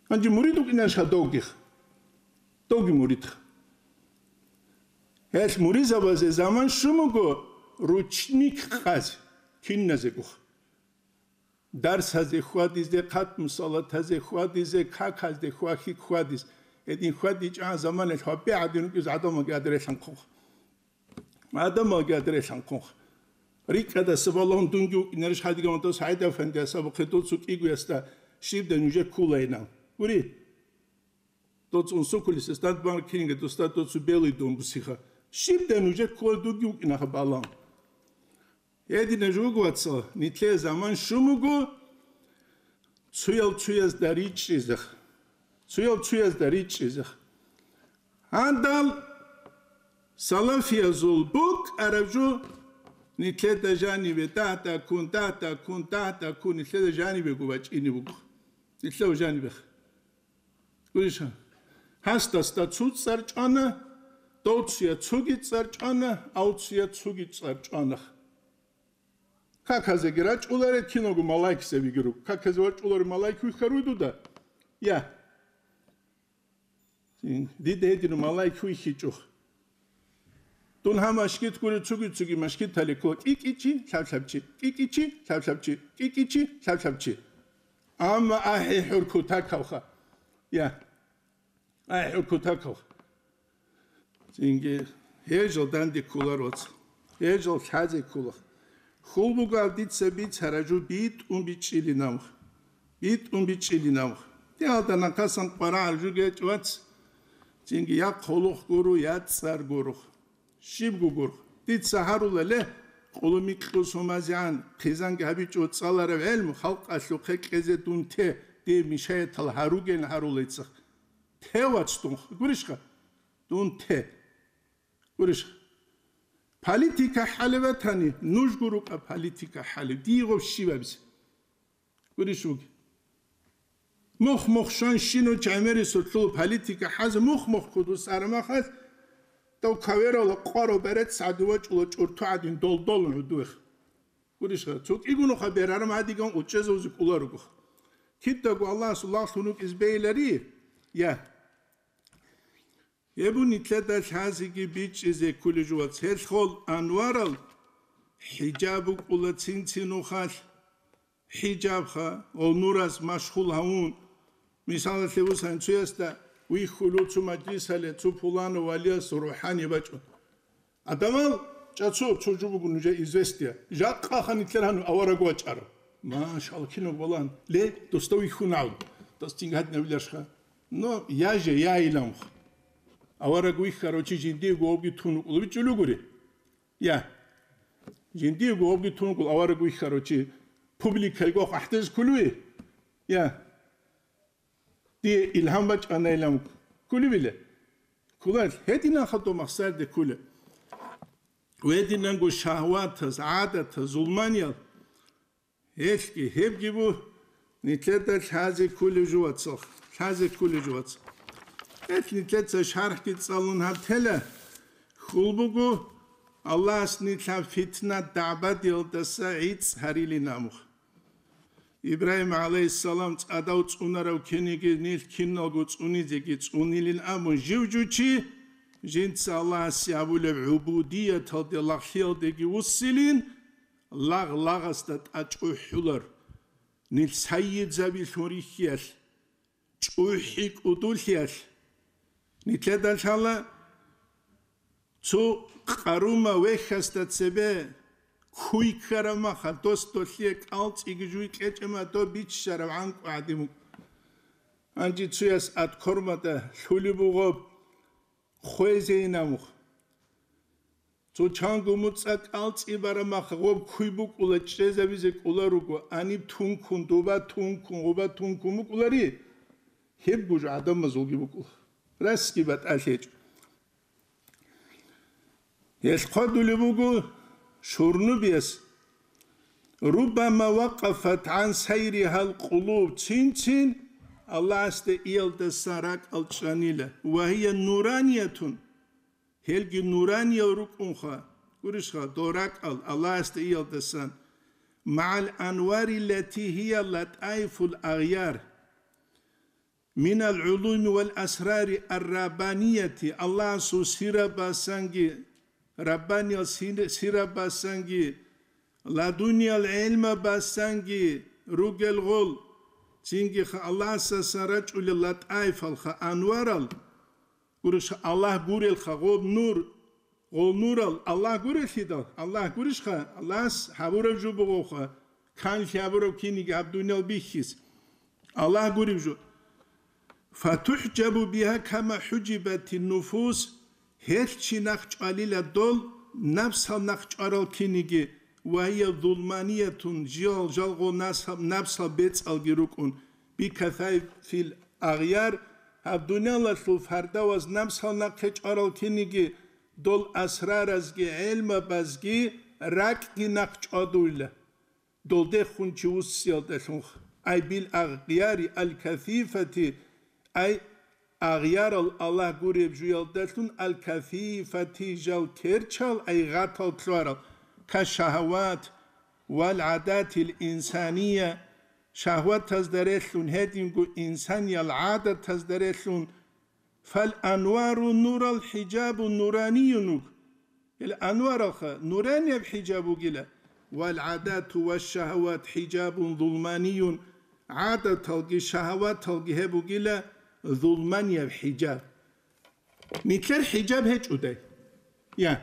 Гьанже мурид вукӀинарищха довгих? Довги муридха. Гьелъ муризабазе заман щун буго ручник къазе, киназегух. Дарсазе хьвадизе, хъатму салатазе хьвадизе, каказде хьвахьи хьвадиз. Гьедин хьвадичӀан заманалъ гьабе гӀадин рукӀиз гӀадамалги гьадре лъанхъунха. ГӀадамалги гьадре лъанхъунха. РикӀкӀадаса балагьун дунги вукӀинарищ гьадиган дос гӀайда фанди асабухъе доцу кӀигоясда щибдай нужер кколайинав. Гури? Доцун сукулис эстад банк кинига доста доцу белый дом бусиха. Щибдай нужер кколай дуги вукӀинаха балагьун. Гьедина жугу, вацал, нитлъе заман щун буго, цуял цуязда ричӀчӀизех. Цуял цуязда ричӀчӀизех. Гьандал салафиязул букӀараб жо нитлъеда жанибе дагьда-ккун, дагьда-ккун, дагьда-ккун нитлъеда жанибего бачӀине буго. Нитлъев жанибех. Гуриша, гьасдасда цу цӀар чӀвана, довцуя цуги цӀар чӀвана, авцуя цуги цӀар чӀвана. Каказеги рачӀуларе киналго малайкзабиги руго. Каказе вачӀуларе малайк вихьаруй дуда? Я. Дида гьедин малайк вихьичӀо. Дун гьаб машгит гури цуги-цуги машгит гьаликула кӀикӀичи, лъаб-лъабчи, кӀикӀичи, лъаб-лъабчи, кӀикӀичи, лъаб-лъабчи. Амма ахӀи хӀур кутакалха. Я. АхӀи хӀур кутакалха. Цинги гьежал данде кколар вац. Гьежал лъазе ккола. Хьул бугал дица бицара жу битӀун бичӀчӀилин амх. БитӀун бичӀчӀилин амх. Диалда нахъасан къварагӀар жугечӀ вац. Цинги я хъулухъ гуро, я цӀар гуро. Щибго гурхъ. Дица гьарула, ле, къулумикьлъу сумазегӀан, хъизанги гьабичӀо цӀаларав гӀелму, халкъалъухъе кьезе дун те, дие мишаятал гьаруген гьарула иццахъ. Те вац дун, гурищха? Дун те. Гурищха? Политика хӀалеб батани, нуж гурукъа политика хӀалеб, дие гъов щибабизе. Гурищ вуги. Мух-мух щван щинав чагӀмерисулъул политика хӀазе мух-мух кудус арамахалъ, дав каверала къварав берец гӀадин вачӀула чӀурту гӀадин долдолун гӀудуех. Гурищха, цо кӀигунуха берарам гьадиган учӀезавзе кӀуларугох. Кидаго Аллагьасул лагълъун рукӀиз бейилари? Я. Гьеб нилъеда лъазеги бичӀчӀизе кколеб жо вац. Гьелъ хол анварал хӀижаб букӀула цин-цин нухалъ. ХӀижабха, гъов нурас машгъул гьавун. Мисалалъе бусани, цуясда вихьулев цо мажлисале, цо пуланав валияс рухӀани бачӀун. Адамал чӀацо цо жо буго нужее известие. Жакъаха нилъер гьанив авараг вачӀарав. Машалла, кинаб балагьун. Ле, досда вихьун гьав. Дос цинги гьадинабиларищха. Но я же, я иламха. Авараг вихьарав чи жиндиего гьобги тун вукӀулев бичӀчӀулев гури. Я. Жиндиего гьобги тун вукӀул авараг вихьарав чи публикайго ахӀдезе кколев? Я. Дие илгьам бачӀанайилан кколебила? Кколел, гьединанха дов махсарде кколеб. Гьединанго шагьватаз, гӀадатаз, зулманиял, гьелъги, гьебги бу, нилъеда лъазе кколеб жо вацал, лъазе кколеб жо вацал. Гьелъ нилъеца шархӀги цӀалун гьаб тела, хьул буго, Аллагьас нилъ гьаб фитна дагӀбадиялдаса гӀицӀ гьарилин амух. Ибрагьим гӀалайгьиссалам цӀадав цӀунарав ккениги нилъ киналго цӀунизеги цӀунилин абун жив жучи, жинца Аллагьасе гьабулеб гӀубудияталде лагълъиялдеги вуссилин, лагъ-лагъасда тӀачӀухӀулар, нилъ сайидзабилъун рихьиялъ, чӀухӀи кӀудулъиялъ. Нилъеда лъала цо къарума вехьасда цебе куй ккараб махал, дос долъие кӀалцӀиги жуй кьечӀема, доб биччараб гӀанкӀу гӀадин вукӀ. Гьанже цуяс аткормада лъулеб бугъоб хвезейин амух. Цо чанго муцӀа кӀалцӀи бараб махал гъоб куй букӀула, чӀезабизе кӀула руго, аниб тункун, дуба тункун, гъуба тункун букӀулари? Кибго жо гӀадамазулги букӀула. Расги батӀалъи гьечӀо. Гьелъ хъвадулеб буго Шурнубияс: «Руббама вакъафат гӀан сайригьал къулуб», цин-цин Аллагьасде иялдасан ракӀал чӀанила, «ва гьия нураниятун», гьелги нураниял рукӀунха, гурищха, дол ракӀал Аллагьасде иялдасан, «магӀал анвари лати гьия латӀаифул агъяр». Минал гӀулуми вал асрари ар-раббанияти, Аллагьасул сирабасанги, раббаниял сир-, сирабасанги, ладуниял гӀелмабасанги ругел гъол, цинги ха Аллагьасасан рачӀулел латӀаифалха анварал, гурищ Аллагь гурелха гъоб нур, Гъол нурал Аллагь гурелъидал, Аллагь гурищха, Аллагьас гьабураб жо бугоха, канлъи гьабураб киниги гьаб дуниял бихьис. Аллагь гуреб жо. ФатухӀжабу бигьа кама хӀужибати нуфус, гьелъ чи нахъ чӀвалила дол, напсал нахъ чӀварал киниги, ва гьия зулманиятун, жал, жалго насаб-, напсал бецӀалги рукӀун, бикасафил агъяр, гьаб дуниялалъул фардаваз напсал нахъе чӀварал киниги, дол асраразги гӀелмабазги ракӀги нахъ чӀвадуйла, долдехун чи вуссиялдалъунха, ай бил агъяри аль-касифати, ай агъярал Аллагь гуреб жуялдалъун аль-касифати жал керчал, ай гъатал лъугьарал, кашагьават вал гӀадатил инсания, шагьватазда релълъун, гьединго инсаниял гӀадатазда релълъун, фал анвару нурал хӀижабу нураниюнуг. Ил анваралха нуранияб хӀижаб бугила, вал гӀадату ва шагьават хӀижабун зулманиюн, гӀадаталги шагьаваталги гьеб бугила зулманияб хӀижаб. Нилъер хӀижаб гьечӀодай? Я,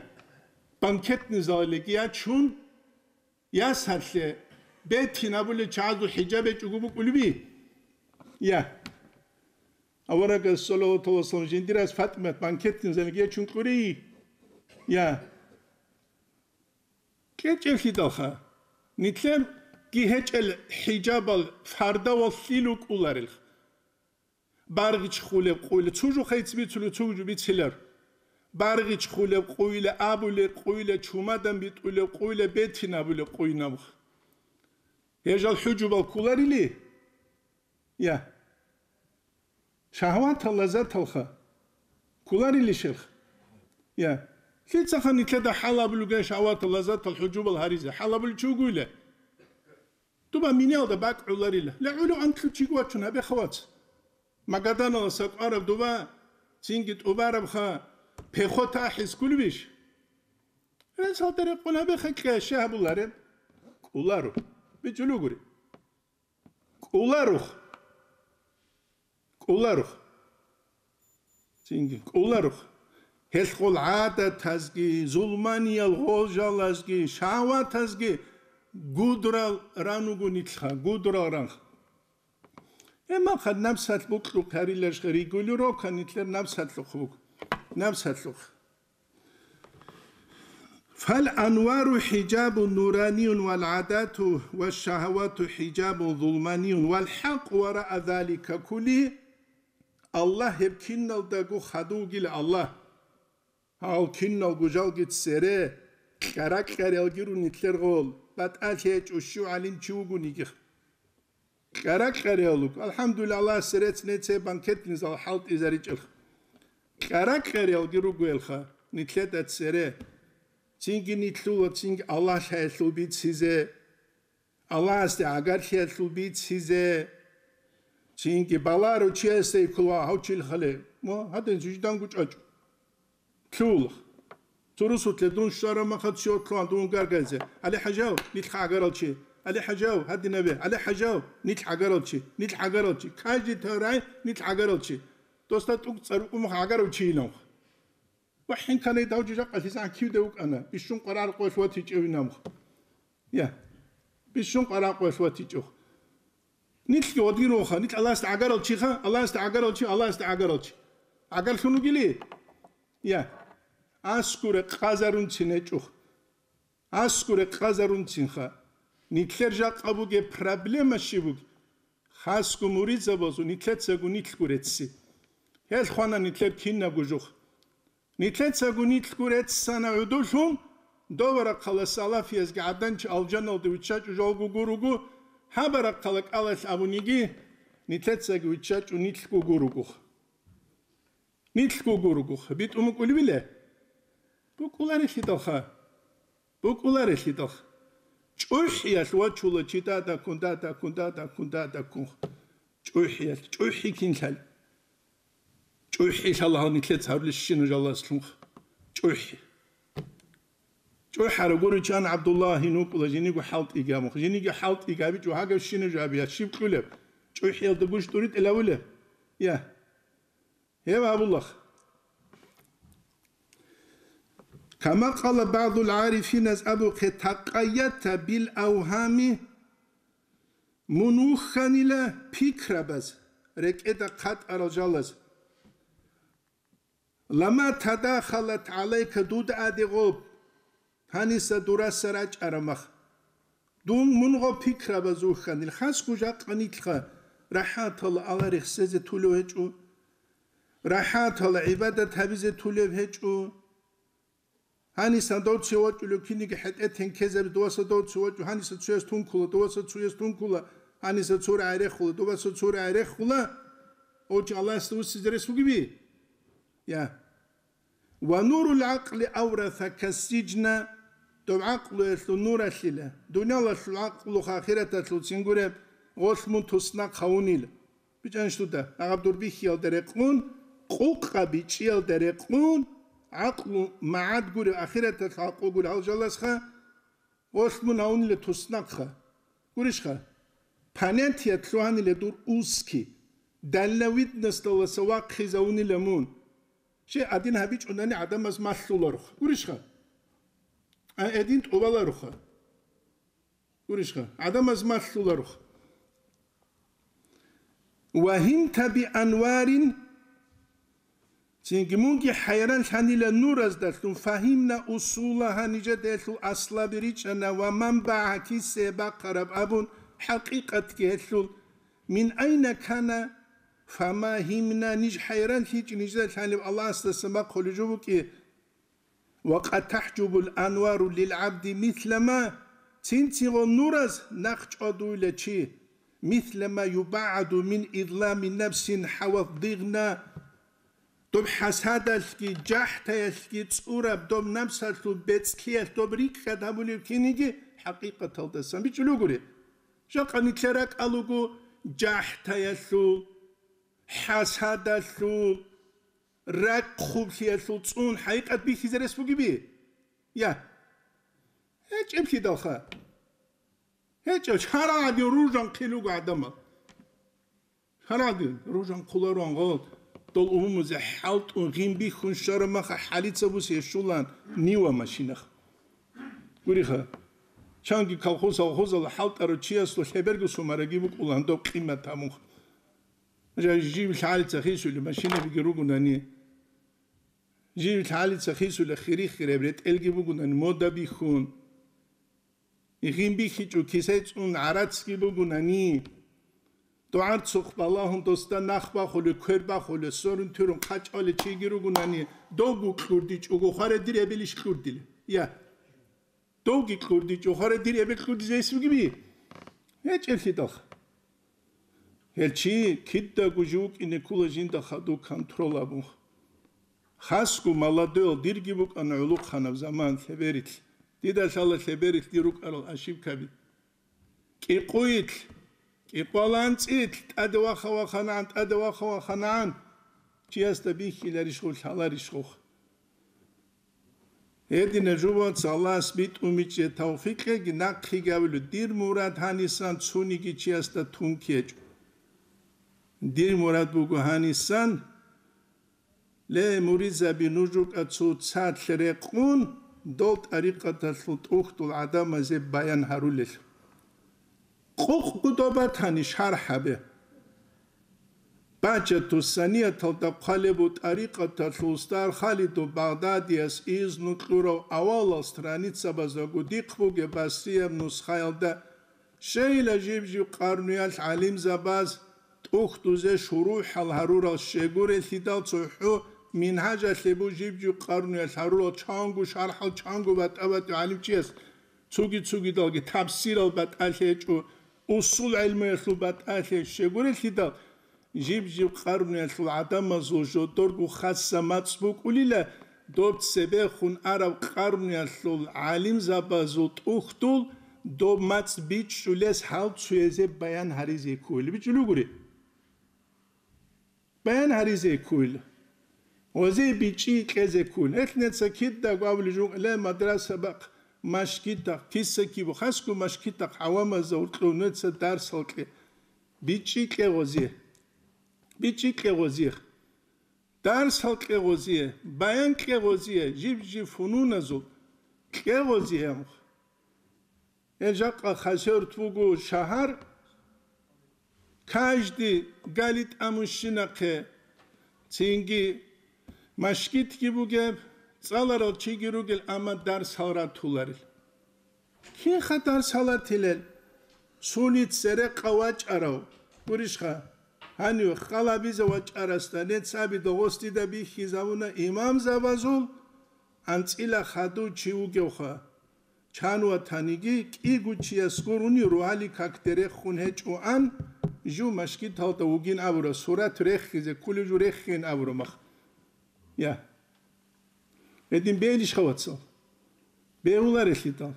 банкетный залалиги ячун, ясалъе бетин абулел чагӀазул хӀижаб гьечӀого букӀулеби? Я. Аварагас, саллаллаху гӀалайгьи ва саллам, жиндирас ФатӀимат банкетный залалиги ячун кьури? Я. КьечӀевлъидалха, нилъерги гьечӀел хӀижабал фардавал лъил рукӀуларелха. Баргъич хулеб къуйла, цо жо хайци бицулев, цо жо бицилар. Баргъич хулеб къуйла, абулеб къуйла, чумадан битӀулеб къуйла, бетин абулеб къуйнабха. Гьежал хӀужубал кколарили? Я. Шагьватал лаззаталха кколарилищелха? Я. Лъицаха нилъеда хӀалабулган шагьватал лаззатал хӀужубал гьаризе? ХӀалабулев чи вугойила? Дуба миниялда бакӀ гӀоларила. Ле гӀолев анкьлъу чиго вачун гьабе хавац. Магаданаласа кӀвараб дуба цинги тӀубарабха, пехота ахӀис кколебищ? Гьесалда рекъон гьабеха, кьяше гьабулареб? КӀоларо. БичӀулугури. КӀоларух. КӀоларух. Цинги кӀоларух. Гьелъ гъол гӀадатазги, зулманиял гъожалазги, шагьватазги гудрал ран вуго нилъха, гудрал ранха. Гьебмахъа напсалъ букьухъ гьарилаш регулировка нилъер напсалъухъ буго. Напсалъухъ. Фал анвару хӀижабун нураниюн вал гӀадату ва шагьавату хӀижабун зулманиюн вал хӀакъ вараа залика кулли. Аллагь гьеб киналдаго хадув вугила Аллагь. Гьал киналго жалги цере, кьара-кьариялги рун нилъер гъол, батӀалъи гьечӀо щив гӀалимчи вугониги. Кьара-кьариялуг, алхӀамдулиллагь, Аллагьасе рецц нецей банкетный зал хӀалтӀизаричӀелха. Кьара-кьариялги ругоялха, нилъеда цере. Цинги нилъула, цинги Аллагь лъаялъул бицизе. Аллагьасде гӀагарлъиялъул бицизе. Цинги баларо чиясда ккола гьав чил хале. Ва гьадин жижданго чӀвачӀо. Лъугьулах. Цо русутлъе дун щвараб махалъ щив лъугьан дун гаргайзе. ГӀали-хӀажав, нилъ гӀагарал чи. ГӀали-хӀажав, гьадинабе. ГӀали-хӀажав, нилъ гӀагарал чи. Нилъ гӀагарал чи. Каждый таврай нилъ гӀагарал чи. Досда тӀугцӀар умух гӀагарав чи иламх. Ва хӀинканай давжи жакъалъизан кивде вукӀана. Бищун къварагӀар къоялъ ватичӀев инамх. Я. Бищун къварагӀар къоялъ ватичӀев. Нилъги гъодгиронха, нилъ Аллагьасде гӀагарал чиха, Аллагьасде гӀагарал чи, Аллагьасде гӀагарал чи. ГӀагарлъун вугили? Я. Аскуре къазарунцин гьечӀо. Аскуре къазарунцинха. Нилъер жакъа бугеб проблема щиб бугеб? Хасго муридзабазул нилъецаго нилъго рецци. Гьел хвана нилъер кинабго жух. Нилъецаго нилъго реццана гӀодуллъун, дов рахъала салафиязги гӀаданчи алжаналде виччачӀо жалго гуруго, гьаб рахъала кӀалалъ абуниги, нилъецаги виччачӀо нилъго гуругух. Нилъго гуругух. БитӀун букӀулебила? БукӀуларелъидалха. БукӀуларелъидалха. ЧӀухӀиялъ вачула чи дадаккун, дадаккун, дадаккун, дадаккун. ЧӀухӀиялъ. ЧӀухӀи кинлъали? ЧӀухӀи лъала гьал нилъец гьарулещина жаласлъунха. ЧӀухӀи. ЧӀухӀара гуричан ГӀабдуллагь гьин вукӀула жиниго хӀалтӀиги абун. Жиниги хӀалтӀиги абичӀо гьагав щина жо абиялъ щиб кьулеб? ЧӀухӀиялда гуж тӀуритӀила вулеб? Я. Гьев абулах. Кама къала багӀдул гӀарифиназ абухъе такъаята бил авгьами, мун вухьанила пикрабаз, рекӀеда хъатӀарал жалаз. Лама тадахалат гӀалайка дуда адегъоб, гьаниса дураса рачӀарамах. Дун мунго пикрабаз вухьанил, хасго жакъа нилъха рахӀатала Аллагь рехсезе тулев гьечӀо, рахӀатала гӀибадат гьабизе тулев гьечӀо. Гьанисан дов цеве вачӀулев киниги хӀетӀе тенкезаби, доваса дов цеве вачӀу, гьаниса цуяс тункула, доваса цуяс тункула, гьаниса цура гӀерехула, доваса цура гӀерехула, гьев чи Аллагьасда вуссизе рес вугеби? Я. Ва нурул гӀакъли авраса кассижна, доб гӀакълуялъул нуралъила, дуниялалъул гӀакълуха ахираталъулцин гуреб, гъолъ мун туснахъ гьавунила. БичӀанищ дуда, агъаб дур бихьиялда рекъун, къукъа бичӀчӀиялда рекъун, гӀакълу магӀад гурев, ахираталъ гӀакълу гурев гьал жаласха, гъолъ мун гьавунила туснахъха. Гурищха? Понятият лъугьанила дур узкий, дальновидносталдаса вахъизавунила мун. Щай гьадин гьабичӀунани гӀадамаз малъуларуха. Гурищха? А гьедин тӀубаларуха. Гурищха, гӀадамаз малъуларух. Ва гьимта би анварин, цинги мунги хӀайран лъанила нураздалъун, фагьимна усулагьа, нижеда гьелъул аслаби ричӀана ва манбагӀа, кисе бахъараб абун, хӀакъикъатги гьелъул, мин айна кана, фама гьимна, ниж хӀайран лъичӀи нижеда лъаниб Аллагьасдаса бахъулеб жо букӀи. Ва къад тахӀжубул анвару лил гӀабди мислама, цинцин гъо нураз нахъ чӀвадуйла чи, мислама юбагӀаду мин излами нафсин хӀават дигъна, доб хӀасадалъги, жахӀтаялъги цӀураб доб напсалъул бецӀлъиялъ доб рикӀкӀад гьабулеб киниги хӀакъикъаталдасан бичӀчӀулугури. Жакъа нилъер ракӀалуго жахӀтаялъул, хӀасадалъул, ракӀ хъублъиялъул цӀун хӀакъикъат бихьизе рес бугеби? Я. ГьечӀеблъидалха. ГьечӀеб шарагӀаде ружан хъилуго гӀадамал. ШарагӀаде ружан хъуларуан гъол, дол умумузе хӀалтӀун гъин бихьун щвараб маха хӀалица бусе щулан нива машинах. Гуриха, чанги колхоз-авхозалда хӀалтӀарав чиясул хӀеберго сумараги букӀулан доб къимат гьабун. Жа-, жив лъалица хисули машинабиги ругунани, жив лъалица хисули хири-хираб ретӀелги бугунани мода бихьун, гъин бихьичӀо кисай цӀун гӀарацги бугунани, дугӀарцухъ балагьун досда нах бахулев, квер бахулев, сорун-турун хъачӀалев чиги ругунани, довго кьурдичӀого хваре дир эбелищ кьурдилев? Я. Довги кьурдичӀо, хваре дир эбел кьурдизе гьес вугеби? ГьечӀеблъидалха. Гьел чи кидаго жив вукӀине ккола жинда хадув контрол абун. Хасго молодой, дирги букӀана гӀулухъанаб заман лъеберилъ. Дида лъала лъеберилъ дир рукӀарал ошибкаби. КӀикъуйилъ, кӀикъваланцӀилъ, тӀаде ваха-ваханагӀан, тӀаде ваха-ваханагӀан. Чиясда бихьиларищ гъул, лъаларищ гъух? Гьедина жубаца Аллагьас битӀун бичӀчӀе тавфикъеги нахъеги абулеб, дир мурад гьанисан цониги чиясда тун ккечӀо. Дир мурад буго гьанисан, ле, муридзаби, нуж рукӀа цоцалъ рекъун, дол тӀарикъаталъул тӀухьдул гӀадамазе баян гьарулел. Къукъ гудо батани шархӀ гьабе. Бачату санияталда хъвалеб бу тӀарикъаталъул устар Халиду Багъдадияс изну кьурав авалал страницабаздаго дихъ бугеб басрияб нусхаялда Щейила жиб-жиб къарнуялъ гӀалимзабаз тӀухьдузе шурухӀал гьарурал щегурелъидал цохӀо мингьажалъе бу жиб-жиб къарнуялъ гьарурал чанго шархӀал чанго батӀа-батӀи гӀалимчияс цуги-цугидалги тафсирал батӀалъи гьечӀо, усул гӀелмуялъул батӀалъи щегурелъидал, жиб-жиб къарнуялъул гӀадамазул жодорго хасса мацӀ букӀулила, доб цебехун араб къарнуялъул гӀалимзабазул тӀухьдул доб мацӀ бичӀчӀулес гьал цуязе баян гьаризе ккуйила. БичӀчӀулев гури? Баян гьаризе ккуйила. Гъозе бичӀчӀи кьезе ккуйила. Гьелъ неца кидаго абулеб жо, ле, мадраса бахъ, машгитахъ, киса кибу, хасго машгитахъ гӀавамазда гьоркьов неца дарсал кье. БичӀчӀи кье гъозе. БичӀчӀи кье гъозе. Дарсал кье гъозе, баян кье гъозе, жиб-жиб фунуназул кье гъозе, амх. Гьел жакъа Хасавюрт буго шагьар, каждый гали тӀамущинахъе, цинги машгитги бугеб, цӀаларал чиги ругел, амма дарсал ратуларел. Кинха дарс гьалатилел? Сунит церекъа вачӀарав, гурищха? Гьанив халабизе вачӀарасда нецаби догъос дида бихьизавуна имамзабазул анцӀила хадув чи вугевха. Чан ватаниги кӀиго чияс гурони ругьали какде рехун гьечӀоан, жив машгиталда вугин абура, сурат рехизе ккулев жу рехин абура мах. Я. Гьедин бегьилищха, вацал? Бегьуларелъидал.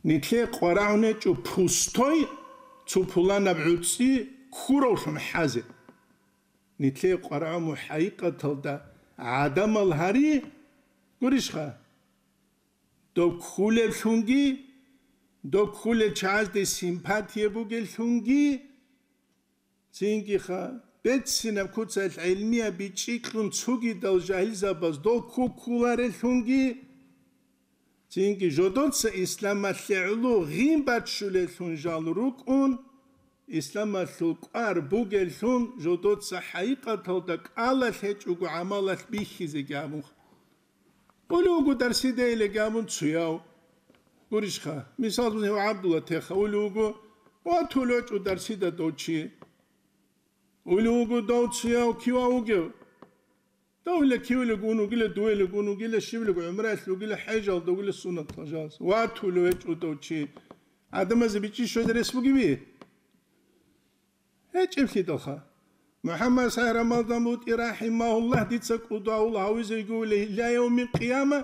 Нилъее къварагӀун гьечӀо пустой цо пуланаб гӀуцӀи ккуравлъун хӀазе. Нилъее къварагӀун мухӀайикъаталда гӀадамал гьари, гурищха? Доб ккулеблъунги, доб ккулел чагӀазде симпатия бугеллъунги, Цинги-ха, беццинаб куцалъ гӀилмияб бичӀчӀи кьун цугидал жагьилзабаз дол ккуккулареллъунги, цинги жодоца исламалъе гӀоло гъин баччулеллъун жал рукӀун, исламалъул кӀвар бугеллъун жодоца хӀакъикъаталда кӀалалъ гьечӀого гӀамалалъ бихьизеги абун. Улев вуго дарсидайилеги абун цуяв. Гурищха, мисал, гьев ГӀабдулла теха улев вуго, ватулев вачӀо дарсида дов чи. Улев вуго дов цуяв кивав вугев. Довила кивилег ун вугила, дуелег ун вугила, щибилег гӀумраялъ вугила, хӀежалда вугила, суннаталъ жалаз. Ватулев вачӀо дов чи. ГӀадамазе бичӀчӀи щвезе рес бугеви? ГьечӀеблъидалха. МухӀаммад СагӀид Рамазан БутӀи рахӀимагьуллагь дица кӀудиял гьавизе йигулей, ила явмил къияма,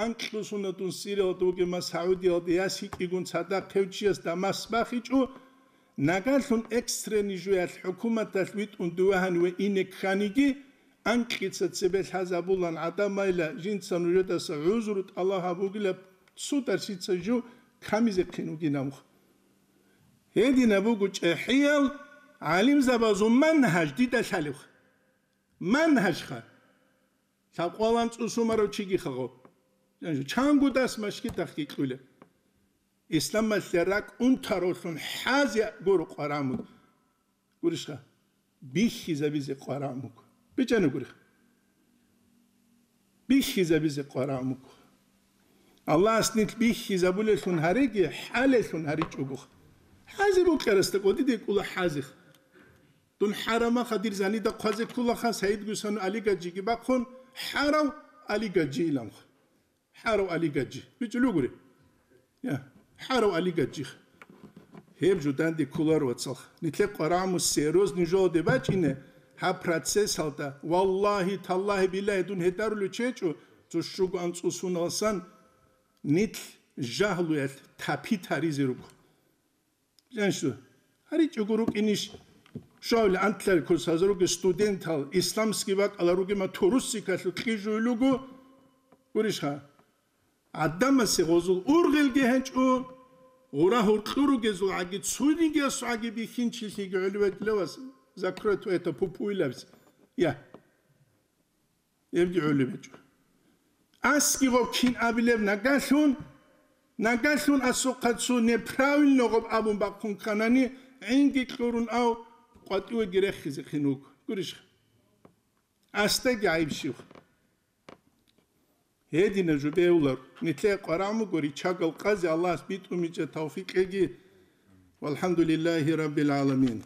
анкьго суннатун сиралда вугеб МасгӀудиялда яс гьикӀигун цадахъ гьев чияс Дамаск бахичӀо, нагалъун экстренный жуялъ хӀукуматалъ витӀун дуве гьаниве ине кканиги, анкьица цебе лъазабулан гӀадамайла жинца нужедаса гӀузру тӀалаб гьабугилаб цо дарсица жо камизехъин вугин абухъ. Гьединаб буго чӀехӀиял гӀалимзабазул манхӀаж дида лъалебха. МанхӀажха. Лъабкъоялда анцӀу сумарав чигиха гъо. Чанго дас машгитахъги кьулеб. Исламалъе ракӀ унтаравлъун хӀазе гуро къварагӀмуд. Гурищха? Бихьизабизе къварагӀмуг. БичӀана гурищ. Бихьизабизе къварагӀмуг. Аллагьас нилъ бихьизабулеллъун гьареги, хӀалеллъун гьаричӀогох. ХӀазе букӀарасда кӀодиде кӀула хӀазих. Дун хӀарамаха, дир занида хъвазе ккулаха, Саид Гусану Алигаджиги бахъун, хӀарав Алигаджи иламха. ХӀарав Алигаджи. БичӀулев гури? Я, хӀарав Алигаджи. Гьеб жо данде кколаро, вацал. Нилъер къварагӀму серьезный жоялде бачӀине, гьаб процессалда, валлагьи, таллагьи, биллагьи, дун гьедарулев чи гьечӀо, цо щуго анцӀу суналсан нилъ жагьлуялъ тапи таризе руго. Жанщу, гьаричӀого рукӀинищ? Щавли антлъари курсаза ругел студентал исламский бакӀала ругема турусикалъу кьижуй луго, гурищха? ГӀадамасе гъозул ургъелги гьечӀо, гъура гьуркьу ругезул гӀаги цунигиясул гӀаги бихьинчилъиги гӀолеве левас, закрой твоя пупуйлабиз. Я. Гьебги гӀолеб гьечӀо. Асги гъоб кин абилеб нагалъун, нагалъун асухъа цо неправильно гъоб абун бахъун кканани, гӀинги кьурун ав къватӀивеги рехизехъин вуго. Гурищха? Асдаги гӀайиб щивха. Гьедина жубеулар, нилъее къварагӀмуго ричагал къазе Аллагьас битӀумичӀа тавфикъеги, Валхамдулиллахи раббил гӀаламин.